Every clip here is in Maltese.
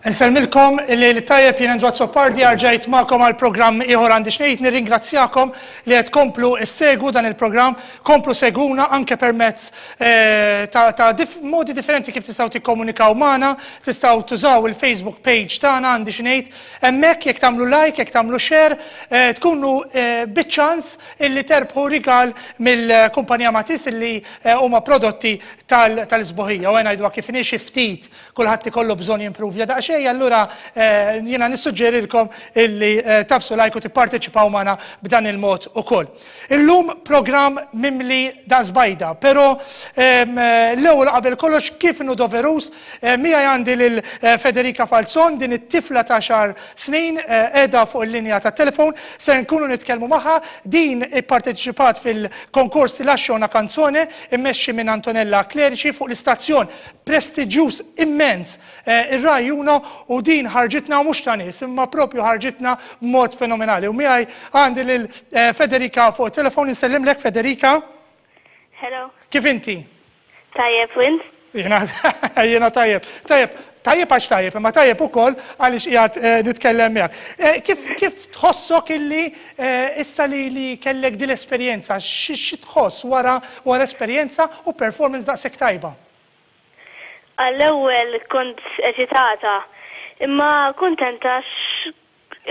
Insellmilkom il-lejl it-tajjeb jien Andrew Azzopardi rġajt magħkom għal programm ieħor għandi x'ngħid nirringrazzjakom li qed tkomplu ssegwu dan il-programm, komplu segwuna anke permezz eh, ta', ta dif modi differenti kif tistgħu tikkomunikaw magħna, tistgħu tużaw il-Facebook page tagħna għandi x'ngħid, hemmhekk jekk tagħmlu like, jekk tagħmlu share, eh, tkunu eh, biċ-ċans illi terbħu rigal mill-kumpanija Matis illi huma prodotti tal-isbuħija. U ngħidu kif inhi xi ftit kulħadd ikollu bżonn jimpruvja daqsxejn, allura eh, jiena nissuġġerilkom illi eh, tagħfsu like u tipparteċipaw magħna b'dan il-mod ukoll. Illum programm mimli daqs bajda, però ehm, l-ewwel qabel kollox kif inhu doverus, eh, miegħi għandi lil Federica Falzon din it-tifla ta' xar snin qiegħda fuq il-linja tat-telefon, se nkunu nitkellmu magħha, din ipparteċipat fil-konkors Ti lascio una canzone immexxi minn Antonella Clerici fuq l-istazzjon prestiġjuż immens ir-Rai Uno u din ħarġitna mhux ta' nies imma propju ħarġitna b'mod fenomenali. U miegħi għandi lil Federica fuq it-telefon insellimlek Federica. Hello. Kif inti? Tajjeb, u int? Jiena jiena tajjeb. Tajjeb, tajjeb għax tajjeb, imma tajjeb ukoll għaliex qiegħed nitkellem miegħek. Kif kif tħossok illi issa li li kellek din l-esperjenza, xi tħoss wara wara esperjenza u performance daqshekk tajba? Għall-ewwel kont eċitata, imma kuntenta għax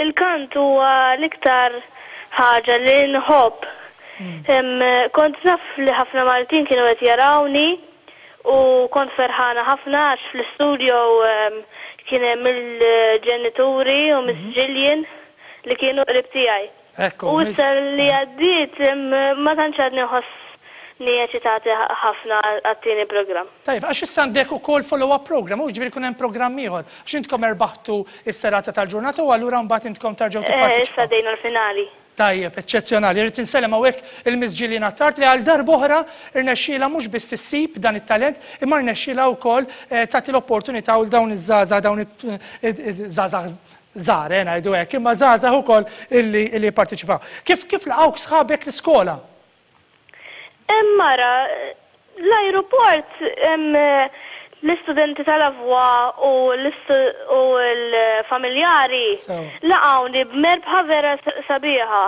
il-kant huwa l-iktar ħaġa li nħobb. Kont naf li ħafna Maltin kienu qed jarawni u kont ferħana ħafna għax fl-istudio kien hemm il-ġenituri u Miss Gillian li kienu qrib tiegħi. U issa li għaddiet ma tantx għadni nħossni eċitati ħafna għat-tieni programm. Tajjeb, għax issa għandek ukoll follow-up program, u jiġifieri jkun hemm programm ieħor. Għax intkom erbaħtu s-serata tal-ġurnata u allura mbagħad intkom terġgħu tipparteċipaw. Issa għaddejna l-finali. Tajjeb, eċċezzjonali. Irrid insellem hawnhekk il-Miss Gillian Attard li għal darb'oħra rnexxielha mhux biss issib dan it-talent imma rnexxielha wkoll tagħti l-opportunità lil dawn iż-żgħażagħ, dawn iż-żgħażagħ żgħar, eh, ngħidu hekk, imma żgħażagħ ukoll illi illi jipparteċipaw. Kif kif laqgħuk sħabek l-iskola? Hemm mara, l-ajruport hemm l-istudenti tal-Avwa u u l-familjari laqgħuni b'merbħa vera sabiħa.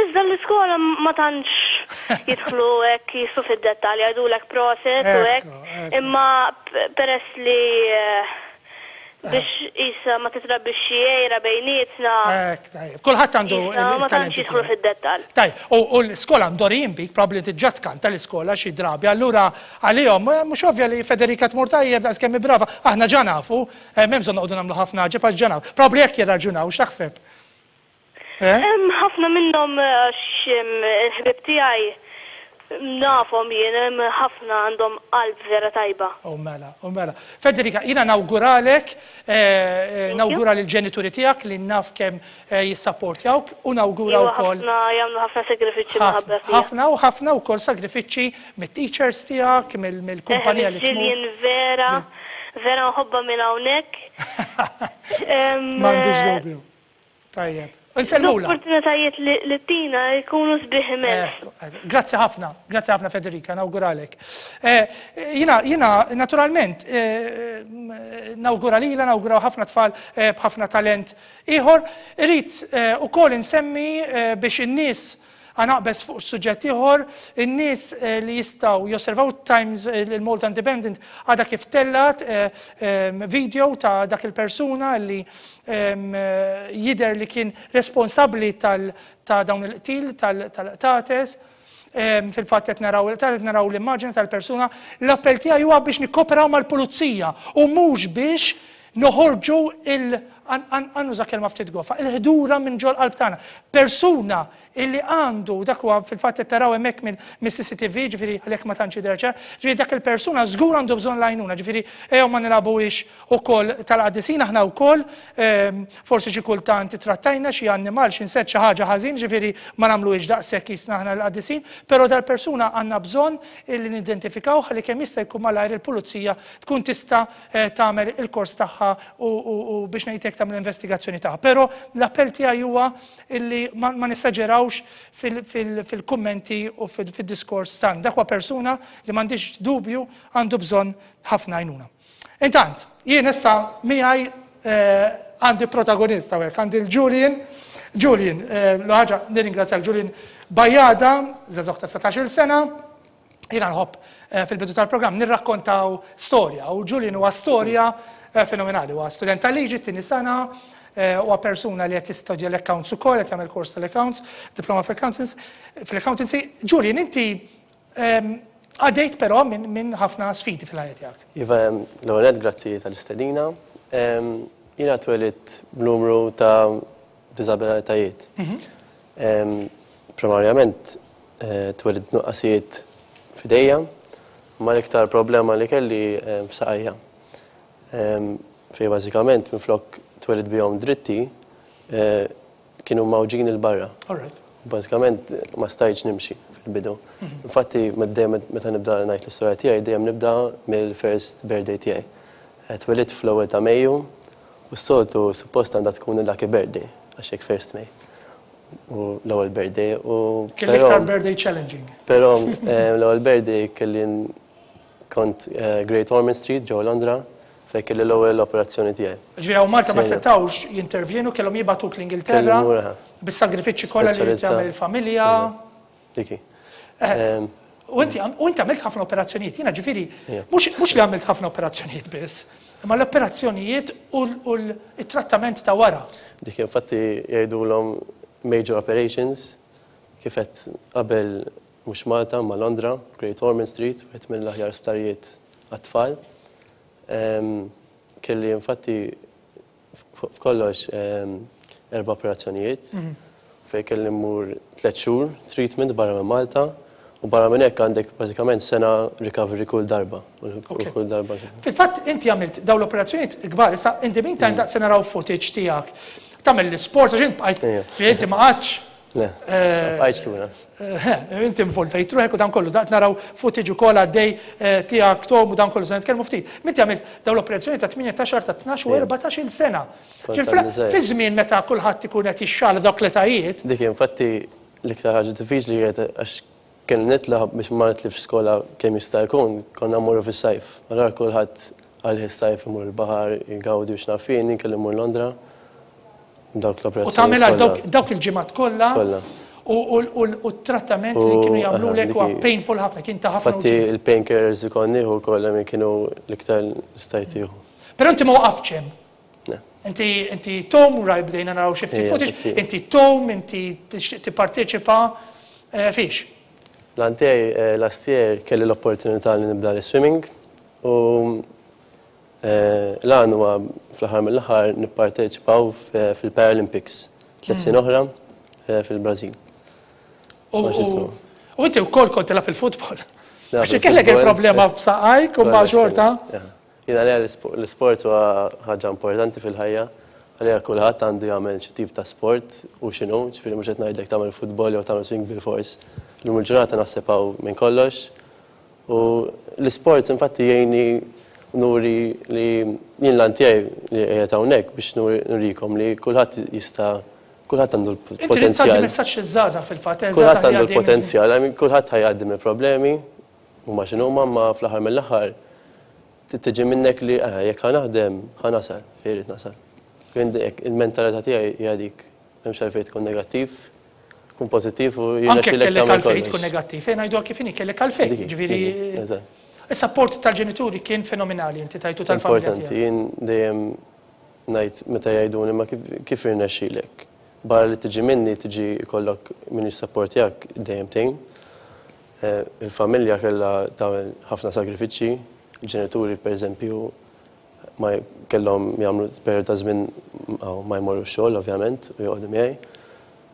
Iżda l-iskola ma tantx jidħlu hekk jissu fid-dettall, jgħidulek proset u hekk, imma peress li Biex qisha ma titrabbix xi għira bejnietna. Hekk, tajjeb. Kulħadd għandu il-talent. Ma tantx jidħlu fid-dettall. Tajjeb, u l-iskola mdorrijin bik, probabbli inti ġa tkanta l-iskola xi drabi, allura għalihom mhux ovvja li Federica tmur tajjeb daqs kemm hi brava. Aħna ġa nafu, m'hemm bżonn noqogħdu nagħmlu ħafna għaġeb għax ġa nafu. Probabbli hekk jirraġunaw, x'taħseb? Hemm ħafna minnhom għax il-ħbieb tiegħi nafhom jien, hemm ħafna għandhom qalb vera tajba. U mela, u mela. Federica, jiena nawguralek, nawgura lill-ġenituri tiegħek li naf kemm jissapportjawk u nawgura wkoll. Ħafna jagħmlu ħafna sagrifiċċji minħabba fija. Ħafna u ħafna wkoll sagrifiċċji mit-teachers tiegħek, mill-kumpanija li tmur. Jien vera, vera nħobbha minn hawnhekk. M'għandix dubju. Tajjeb. Insellmula. L-opportunitajiet li tina jkunu sbieħ immens. Grazzi ħafna, grazzi ħafna Federica, nawguralek. Jina, jina, naturalment, nawgura lila, nawgura ħafna tfal b'ħafna talent ieħor. Irrid ukoll insemmi biex in-nies Ħa naqbeż fuq suġġett ieħor, in-nies li jistgħu josservaw Times il-Malta Independent għadha kif tellgħet video ta' dak il-persuna li jidher li kien responsabbli ta' dawn il-qtil tal-qtates. Fil-fatt qed naraw il-qtates, naraw l-immaġni tal-persuna. L-appell tiegħi huwa biex nikkoperaw mal-pulizija u mhux biex noħorġu il ħa nuża kelma ftit gofa, il-ħdura minn ġol qalb tagħna. Persuna illi għandu, dak huwa fil-fatt qed taraw hemmhekk minn mis-CCTV, ġifieri għalhekk ma tantx jidher ċar, ġifieri dak il-persuna żgur għandu bżonn l-għajnuna, ġifieri ejjew ma nilagħbuhiex ukoll tal-qaddisin aħna wkoll forsi xi kultant trattajna xi annimal, xi insett xi ħaġa ħażin, ġifieri ma nagħmluhiex daqshekk qisna aħna l-qaddisin, però dal-persuna għandna bżonn illi nidentifikaw ħalli kemm jista' jkun malajr il-pulizija tkun tista' tagħmel il-kors tagħha u biex ngħid hekk tagħmel investigazzjoni tagħha. Però l-appell tiegħi huwa illi ma nessaġerawx fil-kummenti u fid-diskors tagħna. Dak huwa persuna li m'għandix dubju għandu bżonn ħafna għajnuna. Intant, jien issa miegħi għandi protagonist hawnhekk, għandi l-Julian. Julian, l-ħaġa nirringrazzjak Julian Bajada, żagħżugħ ta' 17-il sena. Jiena nħobb fil-bidu tal-programm nirrakkontaw storja u Julian huwa storja fenomenali. Huwa student tal-liġi t-tieni sena, huwa persuna li qed jistudja l-accounts ukoll, qed jagħmel kors tal-accounts, diploma fl-accountancy. Julian, inti għaddejt però minn ħafna sfidi fil-ħajja tiegħek. Iva, l-ewwel nett grazzi tal-istedina. Jiena twelidt b'numru ta' diżabilitajiet. Primarjament twelidt nuqqasijiet f'idejja, ma l-iktar problema li kelli f'saqajja. Fejn bażikament minflok twelidt bihom dritti, kienu mgħawġin 'il barra. Bażikament ma stajtx nimxi fil-bidu. Infatti dejjem meta nibda ngħid l-istorja tiegħi dejjem nibda mill-first birthday tiegħi. Twelidt fl-ewwel ta' Mejju u s-soltu suppost għandha tkun il-lucky birthday għax hekk first May. U l-ewwel birthday u Kien l-iktar birthday challenging. Però l-ewwel birthday kelli kont Great Ormond Street ġewwa Londra fejn kelli l-ewwel operazzjoni tiegħi. Ġifieri hawn Malta ma setgħux jintervjenu, kellhom jibagħtuk l-Ingilterra bis-sagrifiċċji kollha li jrid jagħmel il-familja. Dik hi. U inti għamilt ħafna operazzjonijiet, jiena ġifieri mhux li għamilt ħafna operazzjonijiet biss, imma l-operazzjonijiet u l-trattament ta' wara. Dik infatti jgħidulhom major operations, kif għedt qabel mhux Malta imma Londra, Great Ormond Street, wieħed mill-aħjar sptarijiet għat-tfal. Kelli infatti f'kollox erba' operazzjonijiet fejn kelli mmur tliet xhur treatment barra minn Malta u barra minn hekk għandek bażikament sena recovery kull darba. Kull darba. Fil-fatt inti għamilt dawn l-operazzjonijiet kbar, issa in the meantime daqs se naraw footage tiegħek. Tagħmel l-isports għax int bqajt, inti ma qgħadx. Le, ma bqajtx lura. Inti involvejt ruħek u dan kollu, daqt naraw footage ukoll għaddej tiegħek Tom u dan kollu se nitkellmu ftit. Inti għamilt dawn l-operazzjoni ta' 18, ta' 12 u 14-il sena. Fi żmien meta kulħadd ikun qed jixxala f'dawk l-etajiet. Dik infatti l-iktar ħaġa diffiċli kienet għax kelli nitla' biex ma nitlifx skola kemm jista' jkun, konna mmorru fis-sajf. Allura kulħadd għalih is-sajf imur il-baħar, jgawdi u x'naf jien, jien kelli mmur Londra. Dawk l-operazzjonijiet. U tagħmel għal dawk il-ġimgħat kollha. Kollha. U t-trattament li kienu jagħmlulek huwa painful ħafna, kien ta' ħafna. Infatti il-painkillers li kont nieħu wkoll kienu l-iktar li stajt tieħu. Però inti ma waqaftx hemm. Inti inti tom, raj bdejna naraw xi ftit footage, inti tom, inti tixtieq tipparteċipa fiex? L-għan tiegħi last year kelli l-opportunità li nibda l-swimming u L-għan huwa fl-aħħar mill-aħħar nipparteċipaw fil-Paralympics tliet snin oħra fil-Brażil. U inti wkoll kont tilgħab il-futbol. Għax kellek il-problema f'saqajk u ma' xorta. Jiena għalija l-isport huwa ħaġa importanti fil-ħajja. Għalija kulħadd għandu jagħmel xi tip ta' sport u x'inhu, ġifieri mhux qed ngħidlek tagħmel futbol jew tagħmel swing bilfors. Illum il-ġurnata naħseb hawn minn kollox. U l-isports infatti jgħinni nuri li jien l-għan tiegħi li qiegħed hawnhekk biex nurikom li kulħadd jista' kulħadd għandu l-potenzjal. Inti trid tgħaddi messaġġ liż-żgħażagħ fil-fatt, eh, Kulħadd għandu l-potenzjal, I mean kulħadd ħa jgħaddi mill-problemi, huma x'inhuma, imma fl-aħħar mill-aħħar trid tiġi minnek li eh jekk ħa naħdem ħa nasal fejn irrid nasal. Il-mentalità tiegħi hija dik. M'hemmx għalfejn tkun negattiv, tkun pożittiv u Anke kellek għalfejn tkun negattiv, ejja ngħiduha kif inhi, kellek għalfejn, jiġifieri. Is-sapport tal-ġenituri kien fenomenali inti tajtu tal-familja. Importanti, jien dejjem ngħid meta jgħiduli ma kif irnexxielek. Barra li tiġi minni, tiġi jkollok min jissapportjak dejjem tgħin. Il-familja kellha tagħmel ħafna sagrifiċċji, il-ġenituri pereżempju ma kellhom jagħmlu perjodu ta' żmien ma jmorrux xogħol ovvjament u joqogħdu miegħi.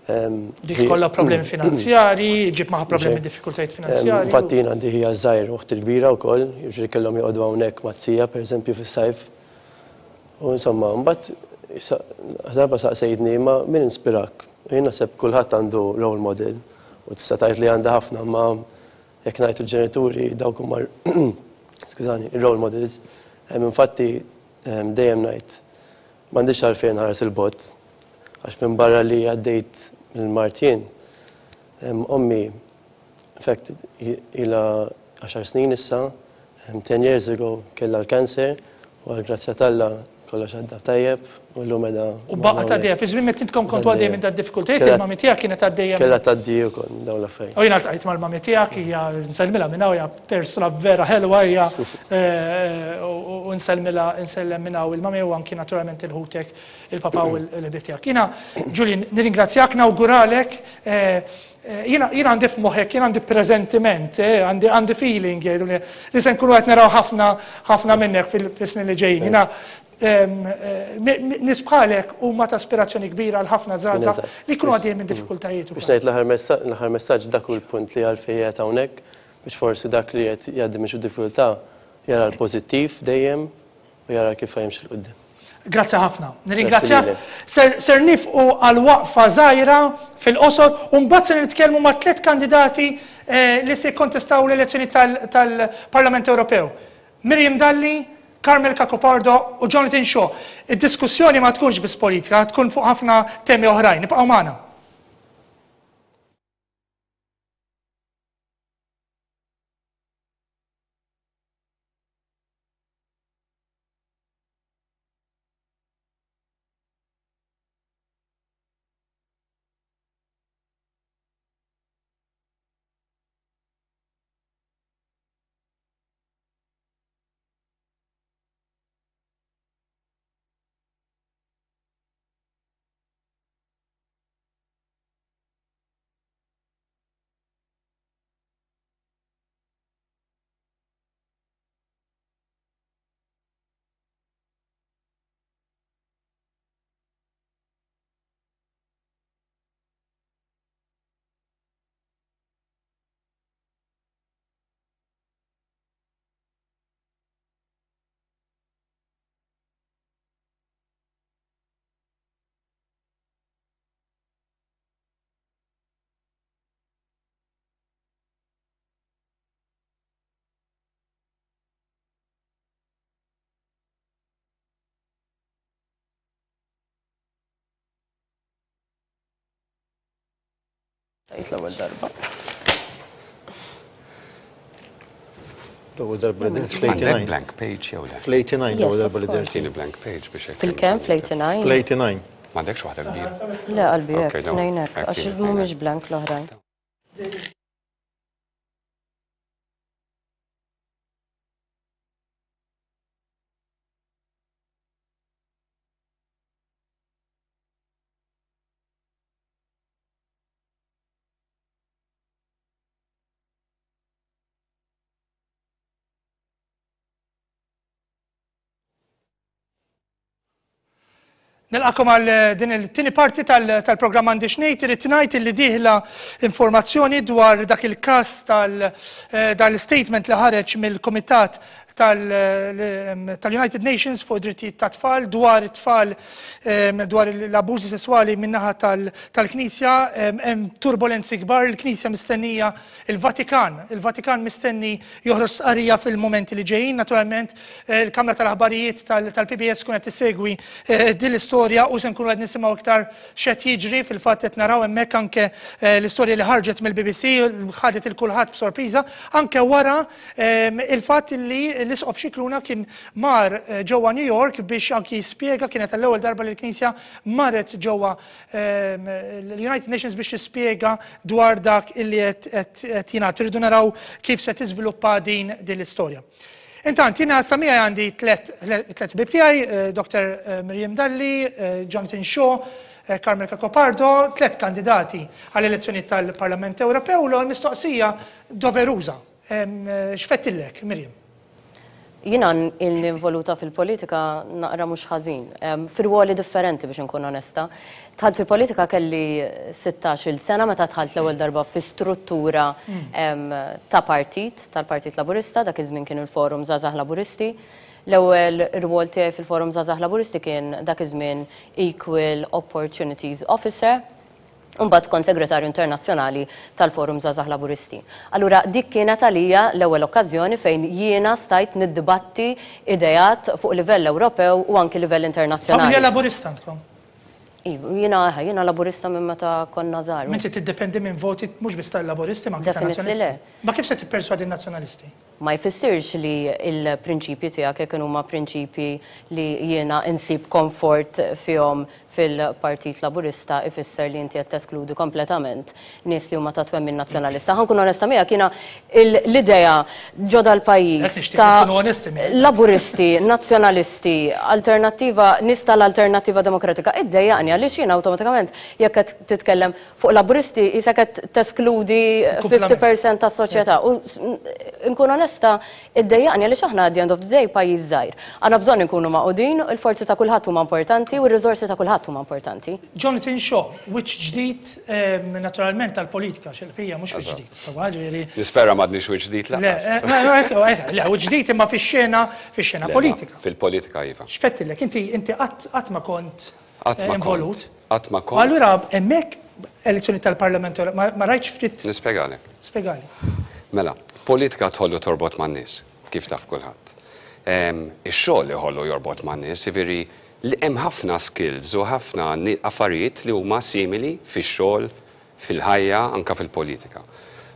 Dik kollha problemi finanzjari, ġib magħha problemi diffikultajiet finanzjari. Infatti jien għandi ħija żgħir u oħti l-kbira wkoll, jiġifieri kellhom joqogħdu hawnhekk mat-tija pereżempju fis-sajf. U insomma, mbagħad darba saqsejtni ma min inspirak? Jien naħseb kulħadd għandu role model u tista' tgħid li għandha ħafna ma jekk ngħid il-ġenituri dawk huma skużani, role models. Infatti dejjem ngħid m'għandix għalfejn nħares il-bogħod għax minn barra li għaddejt mill-mard jien, ommi, in fact ilha għaxar snin issa, 10 years ago kellha l-cancer u għall-grazzja t'Alla. kollox għadda tajjeb u llum qiegħda. U baqgħet għaddejja fi żmien meta intkom kontu għaddejja minn dad-diffikultajiet il-mami tiegħek kienet għaddejja. Kellha tgħaddi wkoll minn dawn l-affarijiet. U jiena ltqajt mal-mami tiegħek hija nsellmilha minn hawn hija persuna vera ħelwa hija u nsellmilha nsellem minn hawn il-mami u anki naturalment il-ħutek il-papà u l-ħbieb tiegħek. Jiena Julian nirringrazzjak nawguralek Jiena għandi f'moħħek, jiena għandi presentiment, għandi għandi feeling jgħidu li li se nkunu qed naraw ħafna ħafna minnek fis-snin li ġejjin. Jiena nies bħalek huma ta' ispirazzjoni kbira għal ħafna żgħażagħ li jkunu għaddejjin minn diffikultajiet. Biex ngħid l-aħħar messaġġ dak hu l-punt li għalfejn qiegħed hawnhekk biex forsi dak li qed jgħaddi minn xi diffikultà jara l-pożittiv dejjem u jara kif ħa jimxi 'l quddiem. Grazzi ħafna. Nirringrazzjak. Ser, ser nifqu għal waqfa żgħira fil-qosor u mbagħad se nitkellmu ma' tliet kandidati eh, li se jikkontestaw l-elezzjoni tal-Parlament Ewropew. Miriam Dalli, Carmel Cacopardo u Jonathan Shaw. Id-diskussjoni ma tkunx biss politika, tkun fuq ħafna temi oħrajn. Ibqgħu magħna. Tajt l-ewwel darba. L-ewwel darba li dert fl-89. Blank page jew le? Fl-89 l-ewwel darba li dert. Tieni blank page biex hekk. Fil-kemm fl-89? Fl-89. M'għandekx waħda kbira? Le qalbi hekk, tnejn hekk, għax mhumiex blank l-oħrajn. Nilqakom għal eh, din il-tieni parti tal-programm għandi xnejt, irrid ngħid li dieħla informazzjoni dwar dak il-każ tal-statement eh, li ħareġ mill-Kumitat tal-United Nations fuq drittijiet ta' tfal dwar it-tfal dwar l-abbużi sesswali min-naħa tal-Knisja hemm turbolenzi kbar, il-Knisja mistennija il-Vatikan, il-Vatikan mistenni joħroġ stqarrija fil-mumenti li ġejjin, naturalment eh, il-Kamra tal-Aħbarijiet tal-PBS tkun qed tissegwi eh, din l-istorja u se nkunu qed nisimgħu iktar x'qed jiġri fil-fatt qed naraw hemmhekk anke eh, l-istorja li ħarġet mill-BBC ħadet il kulħadd b'sorpriża anke wara Il-fatt li l-Isqof Scicluna kien mar ġewwa New York biex anki jispjega kienet għall-ewwel darba li l-Knisja marret ġewwa l-United Nations biex tispjega dwar dak illi qed jingħad. Irridu naraw kif se tiżviluppa din din l-istorja. Intant, jiena sa miegħi għandi tlet ħbieb tiegħi, Dr. Miriam Dalli, Jonathan Shaw, Carmel Cacopardo, tlet kandidati għall-elezzjonijiet tal-Parlament Ewropew. L-ewwel mistoqsija doveruża. X'fettillek, Miriam? Jiena ilni involuta fil-politika naqra mhux ħażin. Fi rwoli differenti biex inkun onesta. Dħalt fil-politika kelli 16-il sena meta dħalt l-ewwel darba fi struttura ta' partit, tal-Partit Laburista, dak iż-żmien kien il-Forum Żgħażagħ Laburisti. L-ewwel rwol tiegħi fil-Forum Żgħażagħ Laburisti kien dak iż-żmien Equal Opportunities Officer. U mbagħad kont segretarju internazzjonali tal-Forum Żgħażagħ Laburisti. Allura dik kienet għalija l-ewwel okkażjoni fejn jiena stajt niddibatti ideat fuq livell Ewropew u anki livell internazzjonali. Familja Laburista għandkom? Iva, jiena jiena Laburista minn meta konna żgħar. Inti tiddependi minn voti mhux biss tal-Laburisti ma anke tan-Nazzjonalisti. Ma kif se tipperswadi n-Nazzjonalisti? Ma jfissirx li l-prinċipji tiegħek jekk inhuma prinċipji li jiena insib komfort fihom fil-Partit Laburista ifisser li inti qed teskludi kompletament nies li huma ta' twemmin Nazzjonalista. Ħa nkun onesta miegħek jiena l-idea ġo dal-pajjiż ta' Laburisti, Nazzjonalisti, Alternattiva, nies tal-Alternattiva Demokratika iddejjaqni għaliex jiena awtomatikament jekk qed titkellem Fuq Laburisti qisek qed teskludi 50% tas-soċjetà. U nkun onesta, iddejjaqni għaliex aħna at the end of the day pajjiż żgħir. Għandna bżonn inkunu magħqudin, il-forzi ta' kulħadd huma importanti u r-riżorsi ta' kulħadd huma importanti. Jonathan Shaw, wiċċ ġdid naturalment għall-politika, għax il-bqija mhux wiċċ ġdid, sewwa, ġifieri. Nispera m'għadniex wiċċ ġdid lanqas. Le, le, wiċċ ġdid imma fix-xena, fix-xena politika. Fil-politika iva. X'fettillek, inti inti qatt qatt ma kont Qatt ma involut. Qatt ma kont. Allura hemmhekk elezzjoni tal-Parlament ma rajtx ftit. Nispjegalek. Spjegali. Mela, politika tħollu torbot man-nies, kif taf kulħadd. Ix-xogħol iħollu jorbot man-nies, jiġifieri li hemm ħafna skills u ħafna affarijiet li huma simili fix-xogħol, fil-ħajja, anke fil-politika.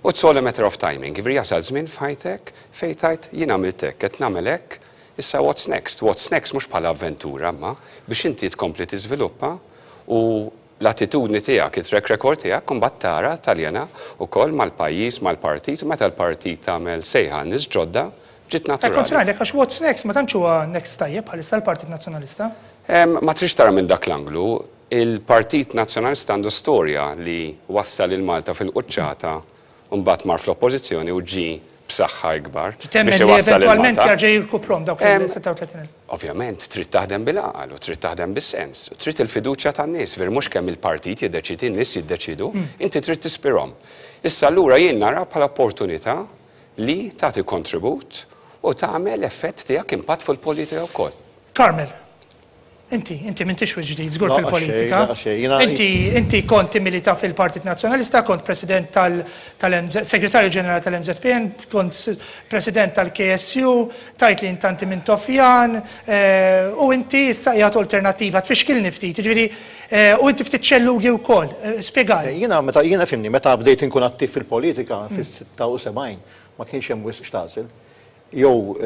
U it's all a matter of timing, jiġifieri jasal żmien f'ħajtek fejn tgħid jien għamilt hekk, qed nagħmel hekk, issa what's next? What's next mhux bħala avventura imma biex inti tkompli tiżviluppa u l-attitudni tiegħek, it-track record tiegħek u mbagħad tara taljena wkoll mal-pajjiż, mal-partit u meta l-partit tagħmel sejħa għal nies ġodda, ġiet naturali. Kont se ngħidlek għax what's next ma tantx huwa next tajjeb bħalissa l-Partit Nazzjonalista. Ma tridx tara minn dak l-anglu, Il-Partit Nazzjonalista għandu storja li wassal lil Malta fil-quċċata u mbagħad mar fl-Oppożizzjoni u ġie b'saħħa ikbar Temmen biex li iwassal lil eventwalment Malta. jerġa' jirkuprhom dawk il-36,000? Ovvjament trid taħdem bil-għaqal u trid taħdem bis-sens u trid il-fiduċja tan-nies, veru mhux kemm il-partit jiddeċiedi, in-nies jiddeċiedu, inti trid tispirhom. Issa allura jien nara bħala opportunità li tagħti kontribut u tagħmel effett tiegħek impatt fuq il-politika wkoll. Carmel. Inti, inti m'intix wiċċ ġdid żgur fil-politika. Inti, inti kont timmilita fil-Partit Nazzjonalista, kont President tal, tal-Segretarju Ġenerali tal-MZPN, kont President tal-KSU, tajt li intanti minn Tofjan, eh, u inti issa qiegħed alternattiva, tfixkilni ftit, jiġifieri, eh, u inti ftit ċellugi wkoll, eh, spjegali. Jiena meta jiena fimni, meta bdejt inkun attiv fil-politika fis-76 ma kienx hemm wisq x'tagħżel. Jew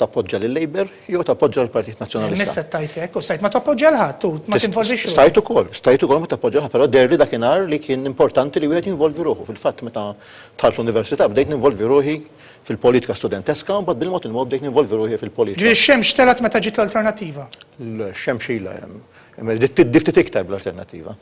tappoġġa lil-Labour jew tappoġġa l-Partit Nazzjonalista. Missa tajt hekk u stajt ma tappoġġa l ħadd u ma tinvolvix ruħek. Stajt ukoll, stajt ukoll ma tappoġġa l ħadd, però deherli dakinhar li kien importanti li wieħed jinvolvi ruħu. Fil-fatt meta dħalt l-università bdejt ninvolvi ruħi fil-politika studenteska u mbagħad bil-mod il-mod bdejt ninvolvi ruħi fil-politika. Ġifieri x-xemx telgħet meta ġiet l-Alternattiva? Le, x-xemx ilha hemm. Imma tiddi ftit iktar bl-alternattiva.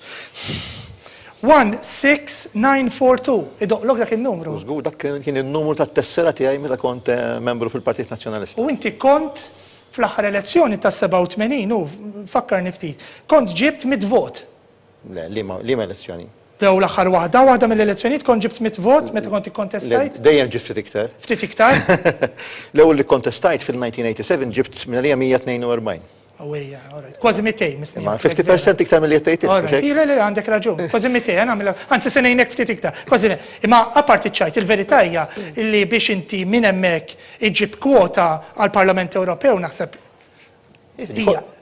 16942, idoqqlok dak in-numru? Żgur, dak kien in-numru tat-tessera tiegħi meta kont membru fil-Partit Nazzjonalista. U inti kont fl-aħħar elezzjoni tas-87, u fakkarni ftit, kont ġibt mitt vot. Le, liema elezzjoni? Jew l-aħħar waħda, waħda mill-elezzjonijiet kont ġibt mitt vot meta kont ikkontestajt? Le, dejjem ġibt ftit iktar. Ftit iktar? L-ewwel li kkontestajt fil-1987 ġibt minn għalija 142. Awejja, all right. Kważi 200, mistenni. Ma 50% iktar mill-li qed tgħid. All right, le, le, għandek raġun. Kważi 200, nagħmel. Anzi se ngħinek ftit iktar. Kważi. Imma apparti ċajt, il-verità hija li biex inti minn hemmhekk iġġib kwota għall-Parlament Ewropew naħseb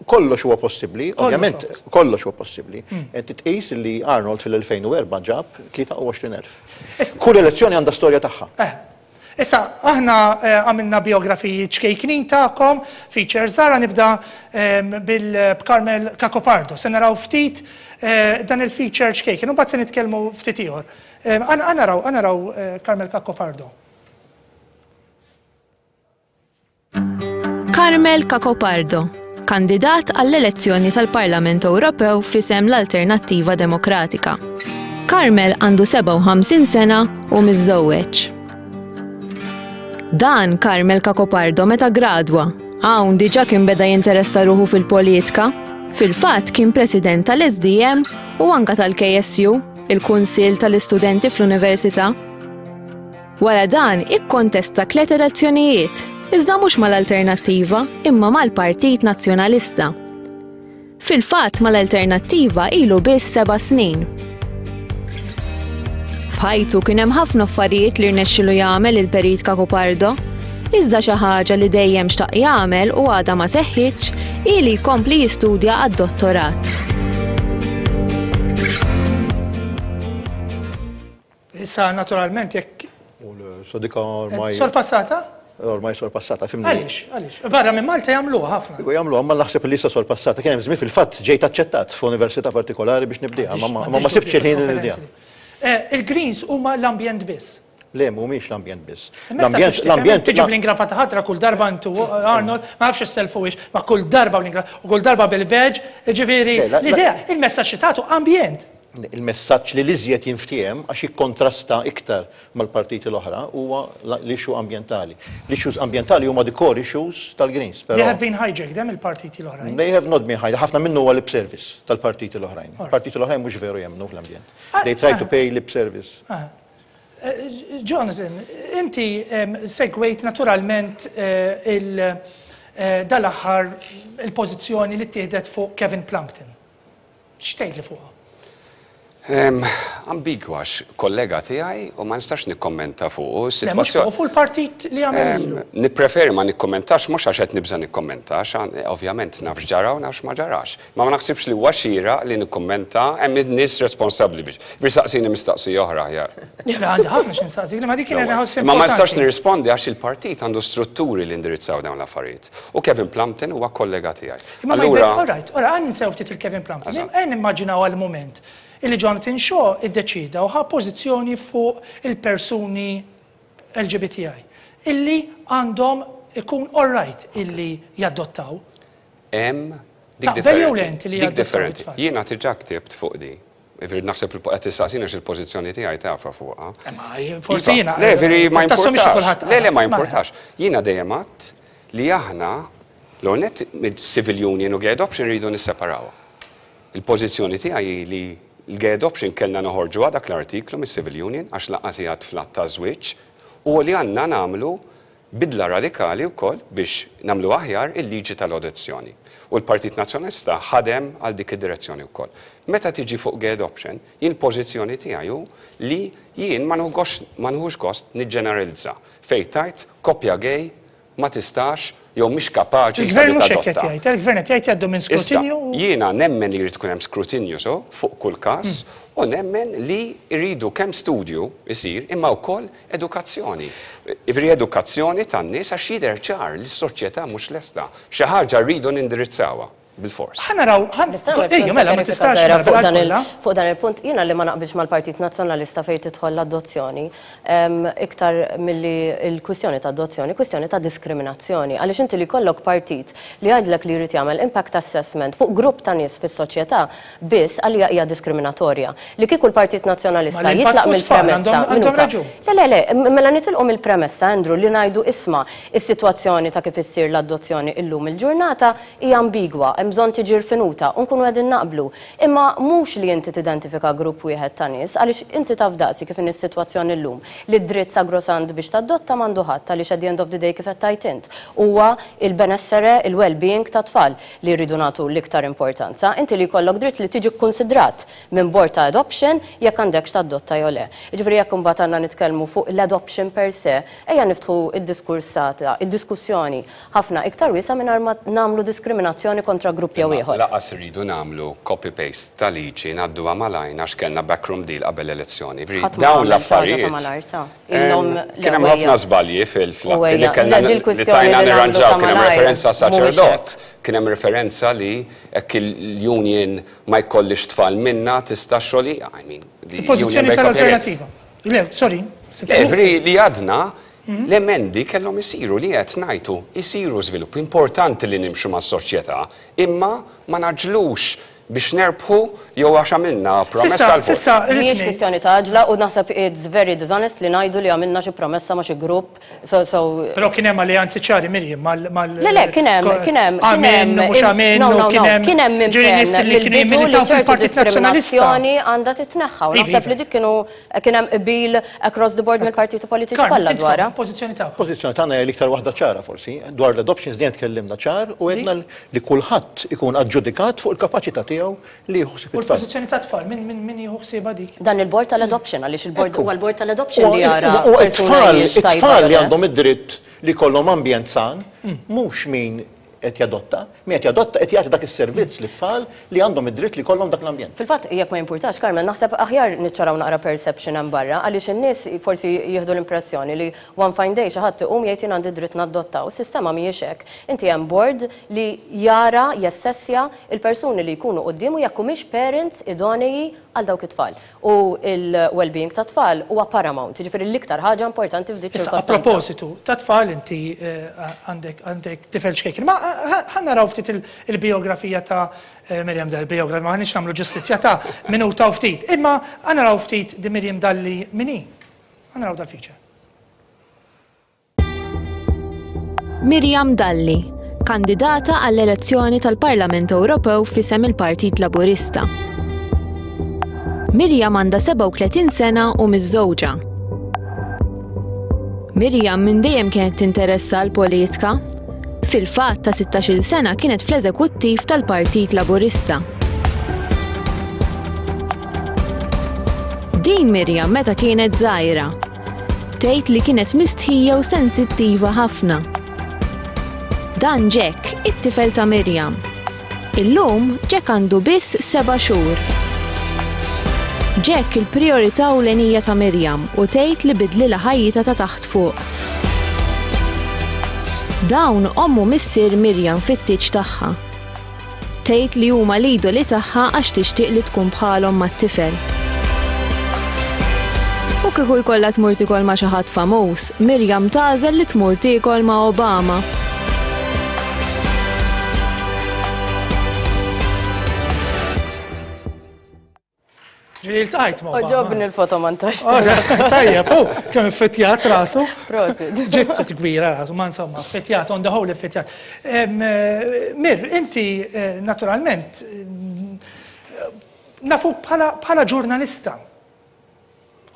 Kollox huwa possibbli, ovvjament, kollox huwa possibbli. Inti tqis li Arnold fil-2004 ġab 23,000. Kull elezzjoni għandha storja tagħha. Issa, aħna għamilna bijografiji ċkejknin tagħkom, feature żgħar, ħa nibda bil b'Carmel Cacopardo. Se naraw ftit dan il-feature ċkejken, u mbagħad se nitkellmu ftit ieħor. Ħa naraw, ħa naraw Carmel Cacopardo. Carmel Cacopardo, kandidat għall-elezzjoni tal-Parlament Ewropew f'isem l-Alternattiva Demokratika. Carmel għandu 57 sena u miżżewweġ. Dan Carmel Cacopardo meta gradwa. Hawn diġà kien beda jinteressa ruħu fil-politika. Fil-fatt kien president tal-SDM u anka tal-KSU, il-Kunsill tal-Istudenti fl-Università. Wara dan ikkontesta tliet elezzjonijiet, iżda mhux mal-Alternattiva imma mal-Partit Nazzjonalista. Fil-fatt mal-Alternattiva ilu biss seba' snin. F'ħajtu kien hemm ħafna affarijiet li rnexxilu jagħmel il-Perit Cacopardo, iżda xi ħaġa li dejjem xtaq jagħmel u għadha ma seħħitx hi li jkompli jistudja għad-dottorat. Issa naturalment jekk. So dik ormai. Sorpassata? Ormai sorpassata, fimni. Għaliex, għaliex? Barra minn Malta jagħmluha ħafna. Iva jagħmluha, ma naħseb li issa sorpassata. Kien hemm żmien fil-fatt ġejt aċċettat f'università partikolari biex nibdieha, ma ma sibtx il-ħin li nibdieha. Il-Greens huma l-ambjent biss. Le, mhumiex l-ambjent biss. L-ambjent, l-ambjent. Tiġi bl-ingravata ħadra kull darba intu, Arnold, ma nafx is-selfu ma kull darba bl-ingravata, u kull darba bil-badge, ġifieri, l-idea, il-messaġġ li tagħtu ambjent. Il-messaġġ li l-iżjed jinftiehem għax jikkontrasta iktar mal-partiti l-oħra huwa l-issue ambjentali. L-issues ambjentali huma the core issues tal-Greens. They have been hijacked, hemm il-partiti l-oħrajn. They have not been hijacked. Ħafna minnu huwa lip service tal-partiti l-oħrajn. Partiti l-oħrajn mhux veru jemmnu fl-ambjent. They try to pay lip service. Jonathan, inti segwejt naturalment dal-aħħar il-pożizzjoni li ttieħdet fuq Kevin Plumpton. X'tgħidli fuqha? Ambigwa għax kollega tiegħi u ma nistax nikkommenta fuqu. Le, mhux fuqu, fuq il-partit li għamel lilu. Nippreferi ma nikkommentax mhux għax qed nibża' nikkommenta, għax ovvjament naf x'ġara u naf x'ma ġarax. Ma ma naħsibx li huwa xieraq li nikkummenta, hemm in-nies responsabbli biex. Ġifieri saqsini mistaqsija oħra aħjar. Le, għandi ħafna xi nsaqsik, ma dik kienet inħoss importanti. Ma ma nistax nirrispondi għax il-partit għandu strutturi li indirizzaw dawn l-affarijiet. U Kevin Plumpton huwa kollega tiegħi. Imma ma jbin, all right, all right, għan ninsew ftit il-Kevin Plumpton. Għan nimmaġinaw għal moment illi Jonathan Shaw iddeċida u ħa pożizzjoni fuq il-persuni LGBTI illi għandhom ikun all right illi jadottaw. Hemm dik Taqbel jew le inti li Dik jadottaw differenti. it-tfal? Jiena diġà ktibt fuq di. Ġifieri naħseb li qed tistaqsini għax il-pożizzjoni tiegħi tafha fuqha. Ma forsi Iva. jiena. Le, veri ma Tassumix importax. kulħadd Le, le, ma qara. importax. Jiena dejjem għedt li aħna l net civil union u gay adoption rridu nisseparawha. Il-pożizzjoni tiegħi hi li l-gay adoption kellna noħorġu dak l-artiklu mis-civil union għax lanqas hija tflat ta' żwieġ u li għandna nagħmlu bidla radikali wkoll biex nagħmlu aħjar il-liġi tal-adozzjoni. U l-Partit Nazzjonalista ħadem għal dik id-direzzjoni wkoll. Meta tiġi fuq gay adoption, jien pożizzjoni tiegħi hu li jien ma nħux gost niġġeneralizza fejn tajt koppja gay ma tistax jew mhix kapaċi Il-gvern mhux hekk qed tadotta. jgħid, il-gvern qed jgħid jgħaddu minn Issa, skrutinju. jiena nemmen li jrid ikun hemm skrutinju so fuq kull każ u nemmen li jridu kemm studju isir imma wkoll edukazzjoni. Ivri edukazzjoni tan-nies għax jidher ċar li s-soċjetà mhux lesta. Xi ħaġa rridu nindirizzawha bil-fors. Ħa naraw, ħa Nista' nagħmel Ejja, punt mela ma ta' tistax żgħira fuq naqbel dan il- kollha. fuq dan il-punt, jiena li ma naqbilx mal-Partit Nazzjonalista fejn tidħol l-adozzjoni, iktar milli l-kwistjoni ta' adozzjoni, kwistjoni ta' diskriminazzjoni. Għaliex inti li jkollok partit li jgħidlek li jrid jagħmel impact assessment fuq grupp ta' nies fis-soċjetà biss għalija hija diskriminatorja. Li kieku l-Partit Nazzjonalista Ma l-impatt jitlaq fuq tfal mill-premessa, għandhom minuta. raġun. Le, le, le, mela nitilqu mill-premessa, Andrew, li ngħidu isma' is-sitwazzjoni ta' kif issir l-adozzjoni illum il-ġurnata hija ambigwa, hemm bżonn tiġi rfinuta u nkunu qegħdin naqblu. Imma mhux li inti tidentifika grupp wieħed ta' nies, għaliex inti taf daqsi kif inhi s-sitwazzjoni llum li d-dritt sagrosant biex tadotta m'għandu ħadd għaliex at the end of the day kif qed tgħid int. Huwa il-benessere, il-well-being ta' tfal li rridu nagħtu l-iktar importanza. Inti li jkollok dritt li tiġi kkunsidrat minn board ta' adoption jekk għandekx tadotta jew le. Jiġifieri jekk imbagħad għandna nitkellmu fuq l-adoption per se, ejja niftħu id-diskursata, id-diskussjoni ħafna iktar wiesgħa mingħajr ma nagħmlu diskriminazzjoni kontra grupp jew ieħor. Lanqas irridu nagħmlu copy-paste ta' liġi ngħadduha malajn għax kellna backroom deal qabel elezzjoni. Ġifieri Ħadd ma dawn għamel xi ħaġa ta' l-affarijiet. malajr ta' Illhom Kien hemm ħafna żbalji fil-fatti li kellna Le, li dil-kwistjoni tajna li nagħmlu nirranġaw, ta' kien hemm malajr referenza mhuwiex saċerdot, kien hemm referenza li hekk il-union ma jkollix tfal minna tista' xogħli, I mean, the union Il-pożizzjoni break up tal-alternativa. Le, sorry. Le, ġifieri li għadna l-emendi kellhom isiru li qed ngħidu isiru żvilupp importanti li nimxu mas-soċjetà, imma ma naġlux biex nerbħu jew għax għamilna promessa Sissa, għal vot. sissa, Mhijiex irrid kwistjoni ta' għaġla u naħseb it's very dishonest li ngħidu li għamilna xi promessa ma' xi grupp. So, so Però kien hemm alleanzi ċari Mirjam mal mal Le, le, kien hemm, kien hemm, kien Amen, hemm, mhux amen, no, no, no, kien hemm kien hemm ġifieri nies impenn li kienu mill-bidu li jimmilitaw ċertu fil-Partit Nazzjonalista. diskriminazzjoni għandha titneħħa. U Iva, naħseb iva. li dik kienu kien hemm qbil across the board mill-partiti politiċi Karl, kollha intkom, dwarha. Pożizzjoni tagħkom. Pożizzjoni tagħna hija l-iktar waħda ċara forsi, dwar l-adoptions dejjem tkellimna ċar u għedna li kulħadd ikun aġġudikat fuq il-kapaċità tiegħu li jieħu ħsieb U it-tfal. l-pożizzjoni ta' tfal, min min min jieħu ħsiebha dik? Dan il-board tal-adoption, għaliex il-board Ekku. huwa l-board tal-adoption li jara U persuna it-tfal, hijiex tajba it-tfal jew li le. għandhom id-dritt li jkollhom ambjent san, mhux min qed jadotta, min qed jadotta qed jagħti dak is-servizz lit-tfal li għandhom id-dritt li jkollhom dak l-ambjent. Fil-fatt, jekk ma jimpurtax, Carmel, naħseb aħjar niċċaraw naqra perception hemm barra għaliex in-nies forsi jieħdu l-impressjoni li one fine day xi ħadd iqum jgħid jien għandi dritt naddotta u s-sistema mhijiex hekk. Inti hemm board li jara, jassessja l-persuni li jkunu quddiemu jekk humiex parents idonei għal dawk it-tfal. U l-well-being tat-tfal huwa paramount, jiġifieri l-iktar ħaġa importanti f'dik Issa, a ċirkostanza. propositu ta' tfal inti għandek għandek tifel ċkejken. Ma ħa naraw ftit il-bijografija ta' Miriam Dalli, bijografija, ma ħanix nagħmlu ġustizzja ta' minuta u ftit. Imma ħa naraw ftit di Miriam Dalli min hi. Ħa naraw dal-feature. Miriam Dalli, kandidata għall-elezzjoni tal-Parlament Ewropew f'isem il-Partit Laburista. Miriam għandha 37 sena u miżżewġa. Miriam minn dejjem kienet tinteressa l-politika. Fil-fatt ta' 16-il sena kienet fl-eżekuttiv tal-Partit Laburista. Din Miriam meta kienet żgħira. Tgħid li kienet mistħija u sensittiva ħafna. Dan Jack, it-tifel ta' Miriam. Illum, Jack għandu biss seba' xhur. Jack il-prijorità ewlenija ta' Miriam u tgħid li bidlilha ħajjitha ta' taħt fuq. Dawn omm u missier Miriam fit-tieġ tagħha. Tgħid li huma l-idoli tagħha għax tixtieq li tkun bħalhom mat-tifel. U kieku jkollha tmur tiekol ma' xi ħadd famuż, Miriam tagħżel li tmur tiekol ma' Obama. Ġieli ltqajt ma' Obama. Oġobni l-foto montaġġ. Tajjeb, u kemm iffettjat rasu. Prosit. Ġiet sit kbira rasu, ma insomma, affettjat, on the whole iffettjat. Eh, Mir, inti eh, naturalment eh, nafuk bħala ġurnalista.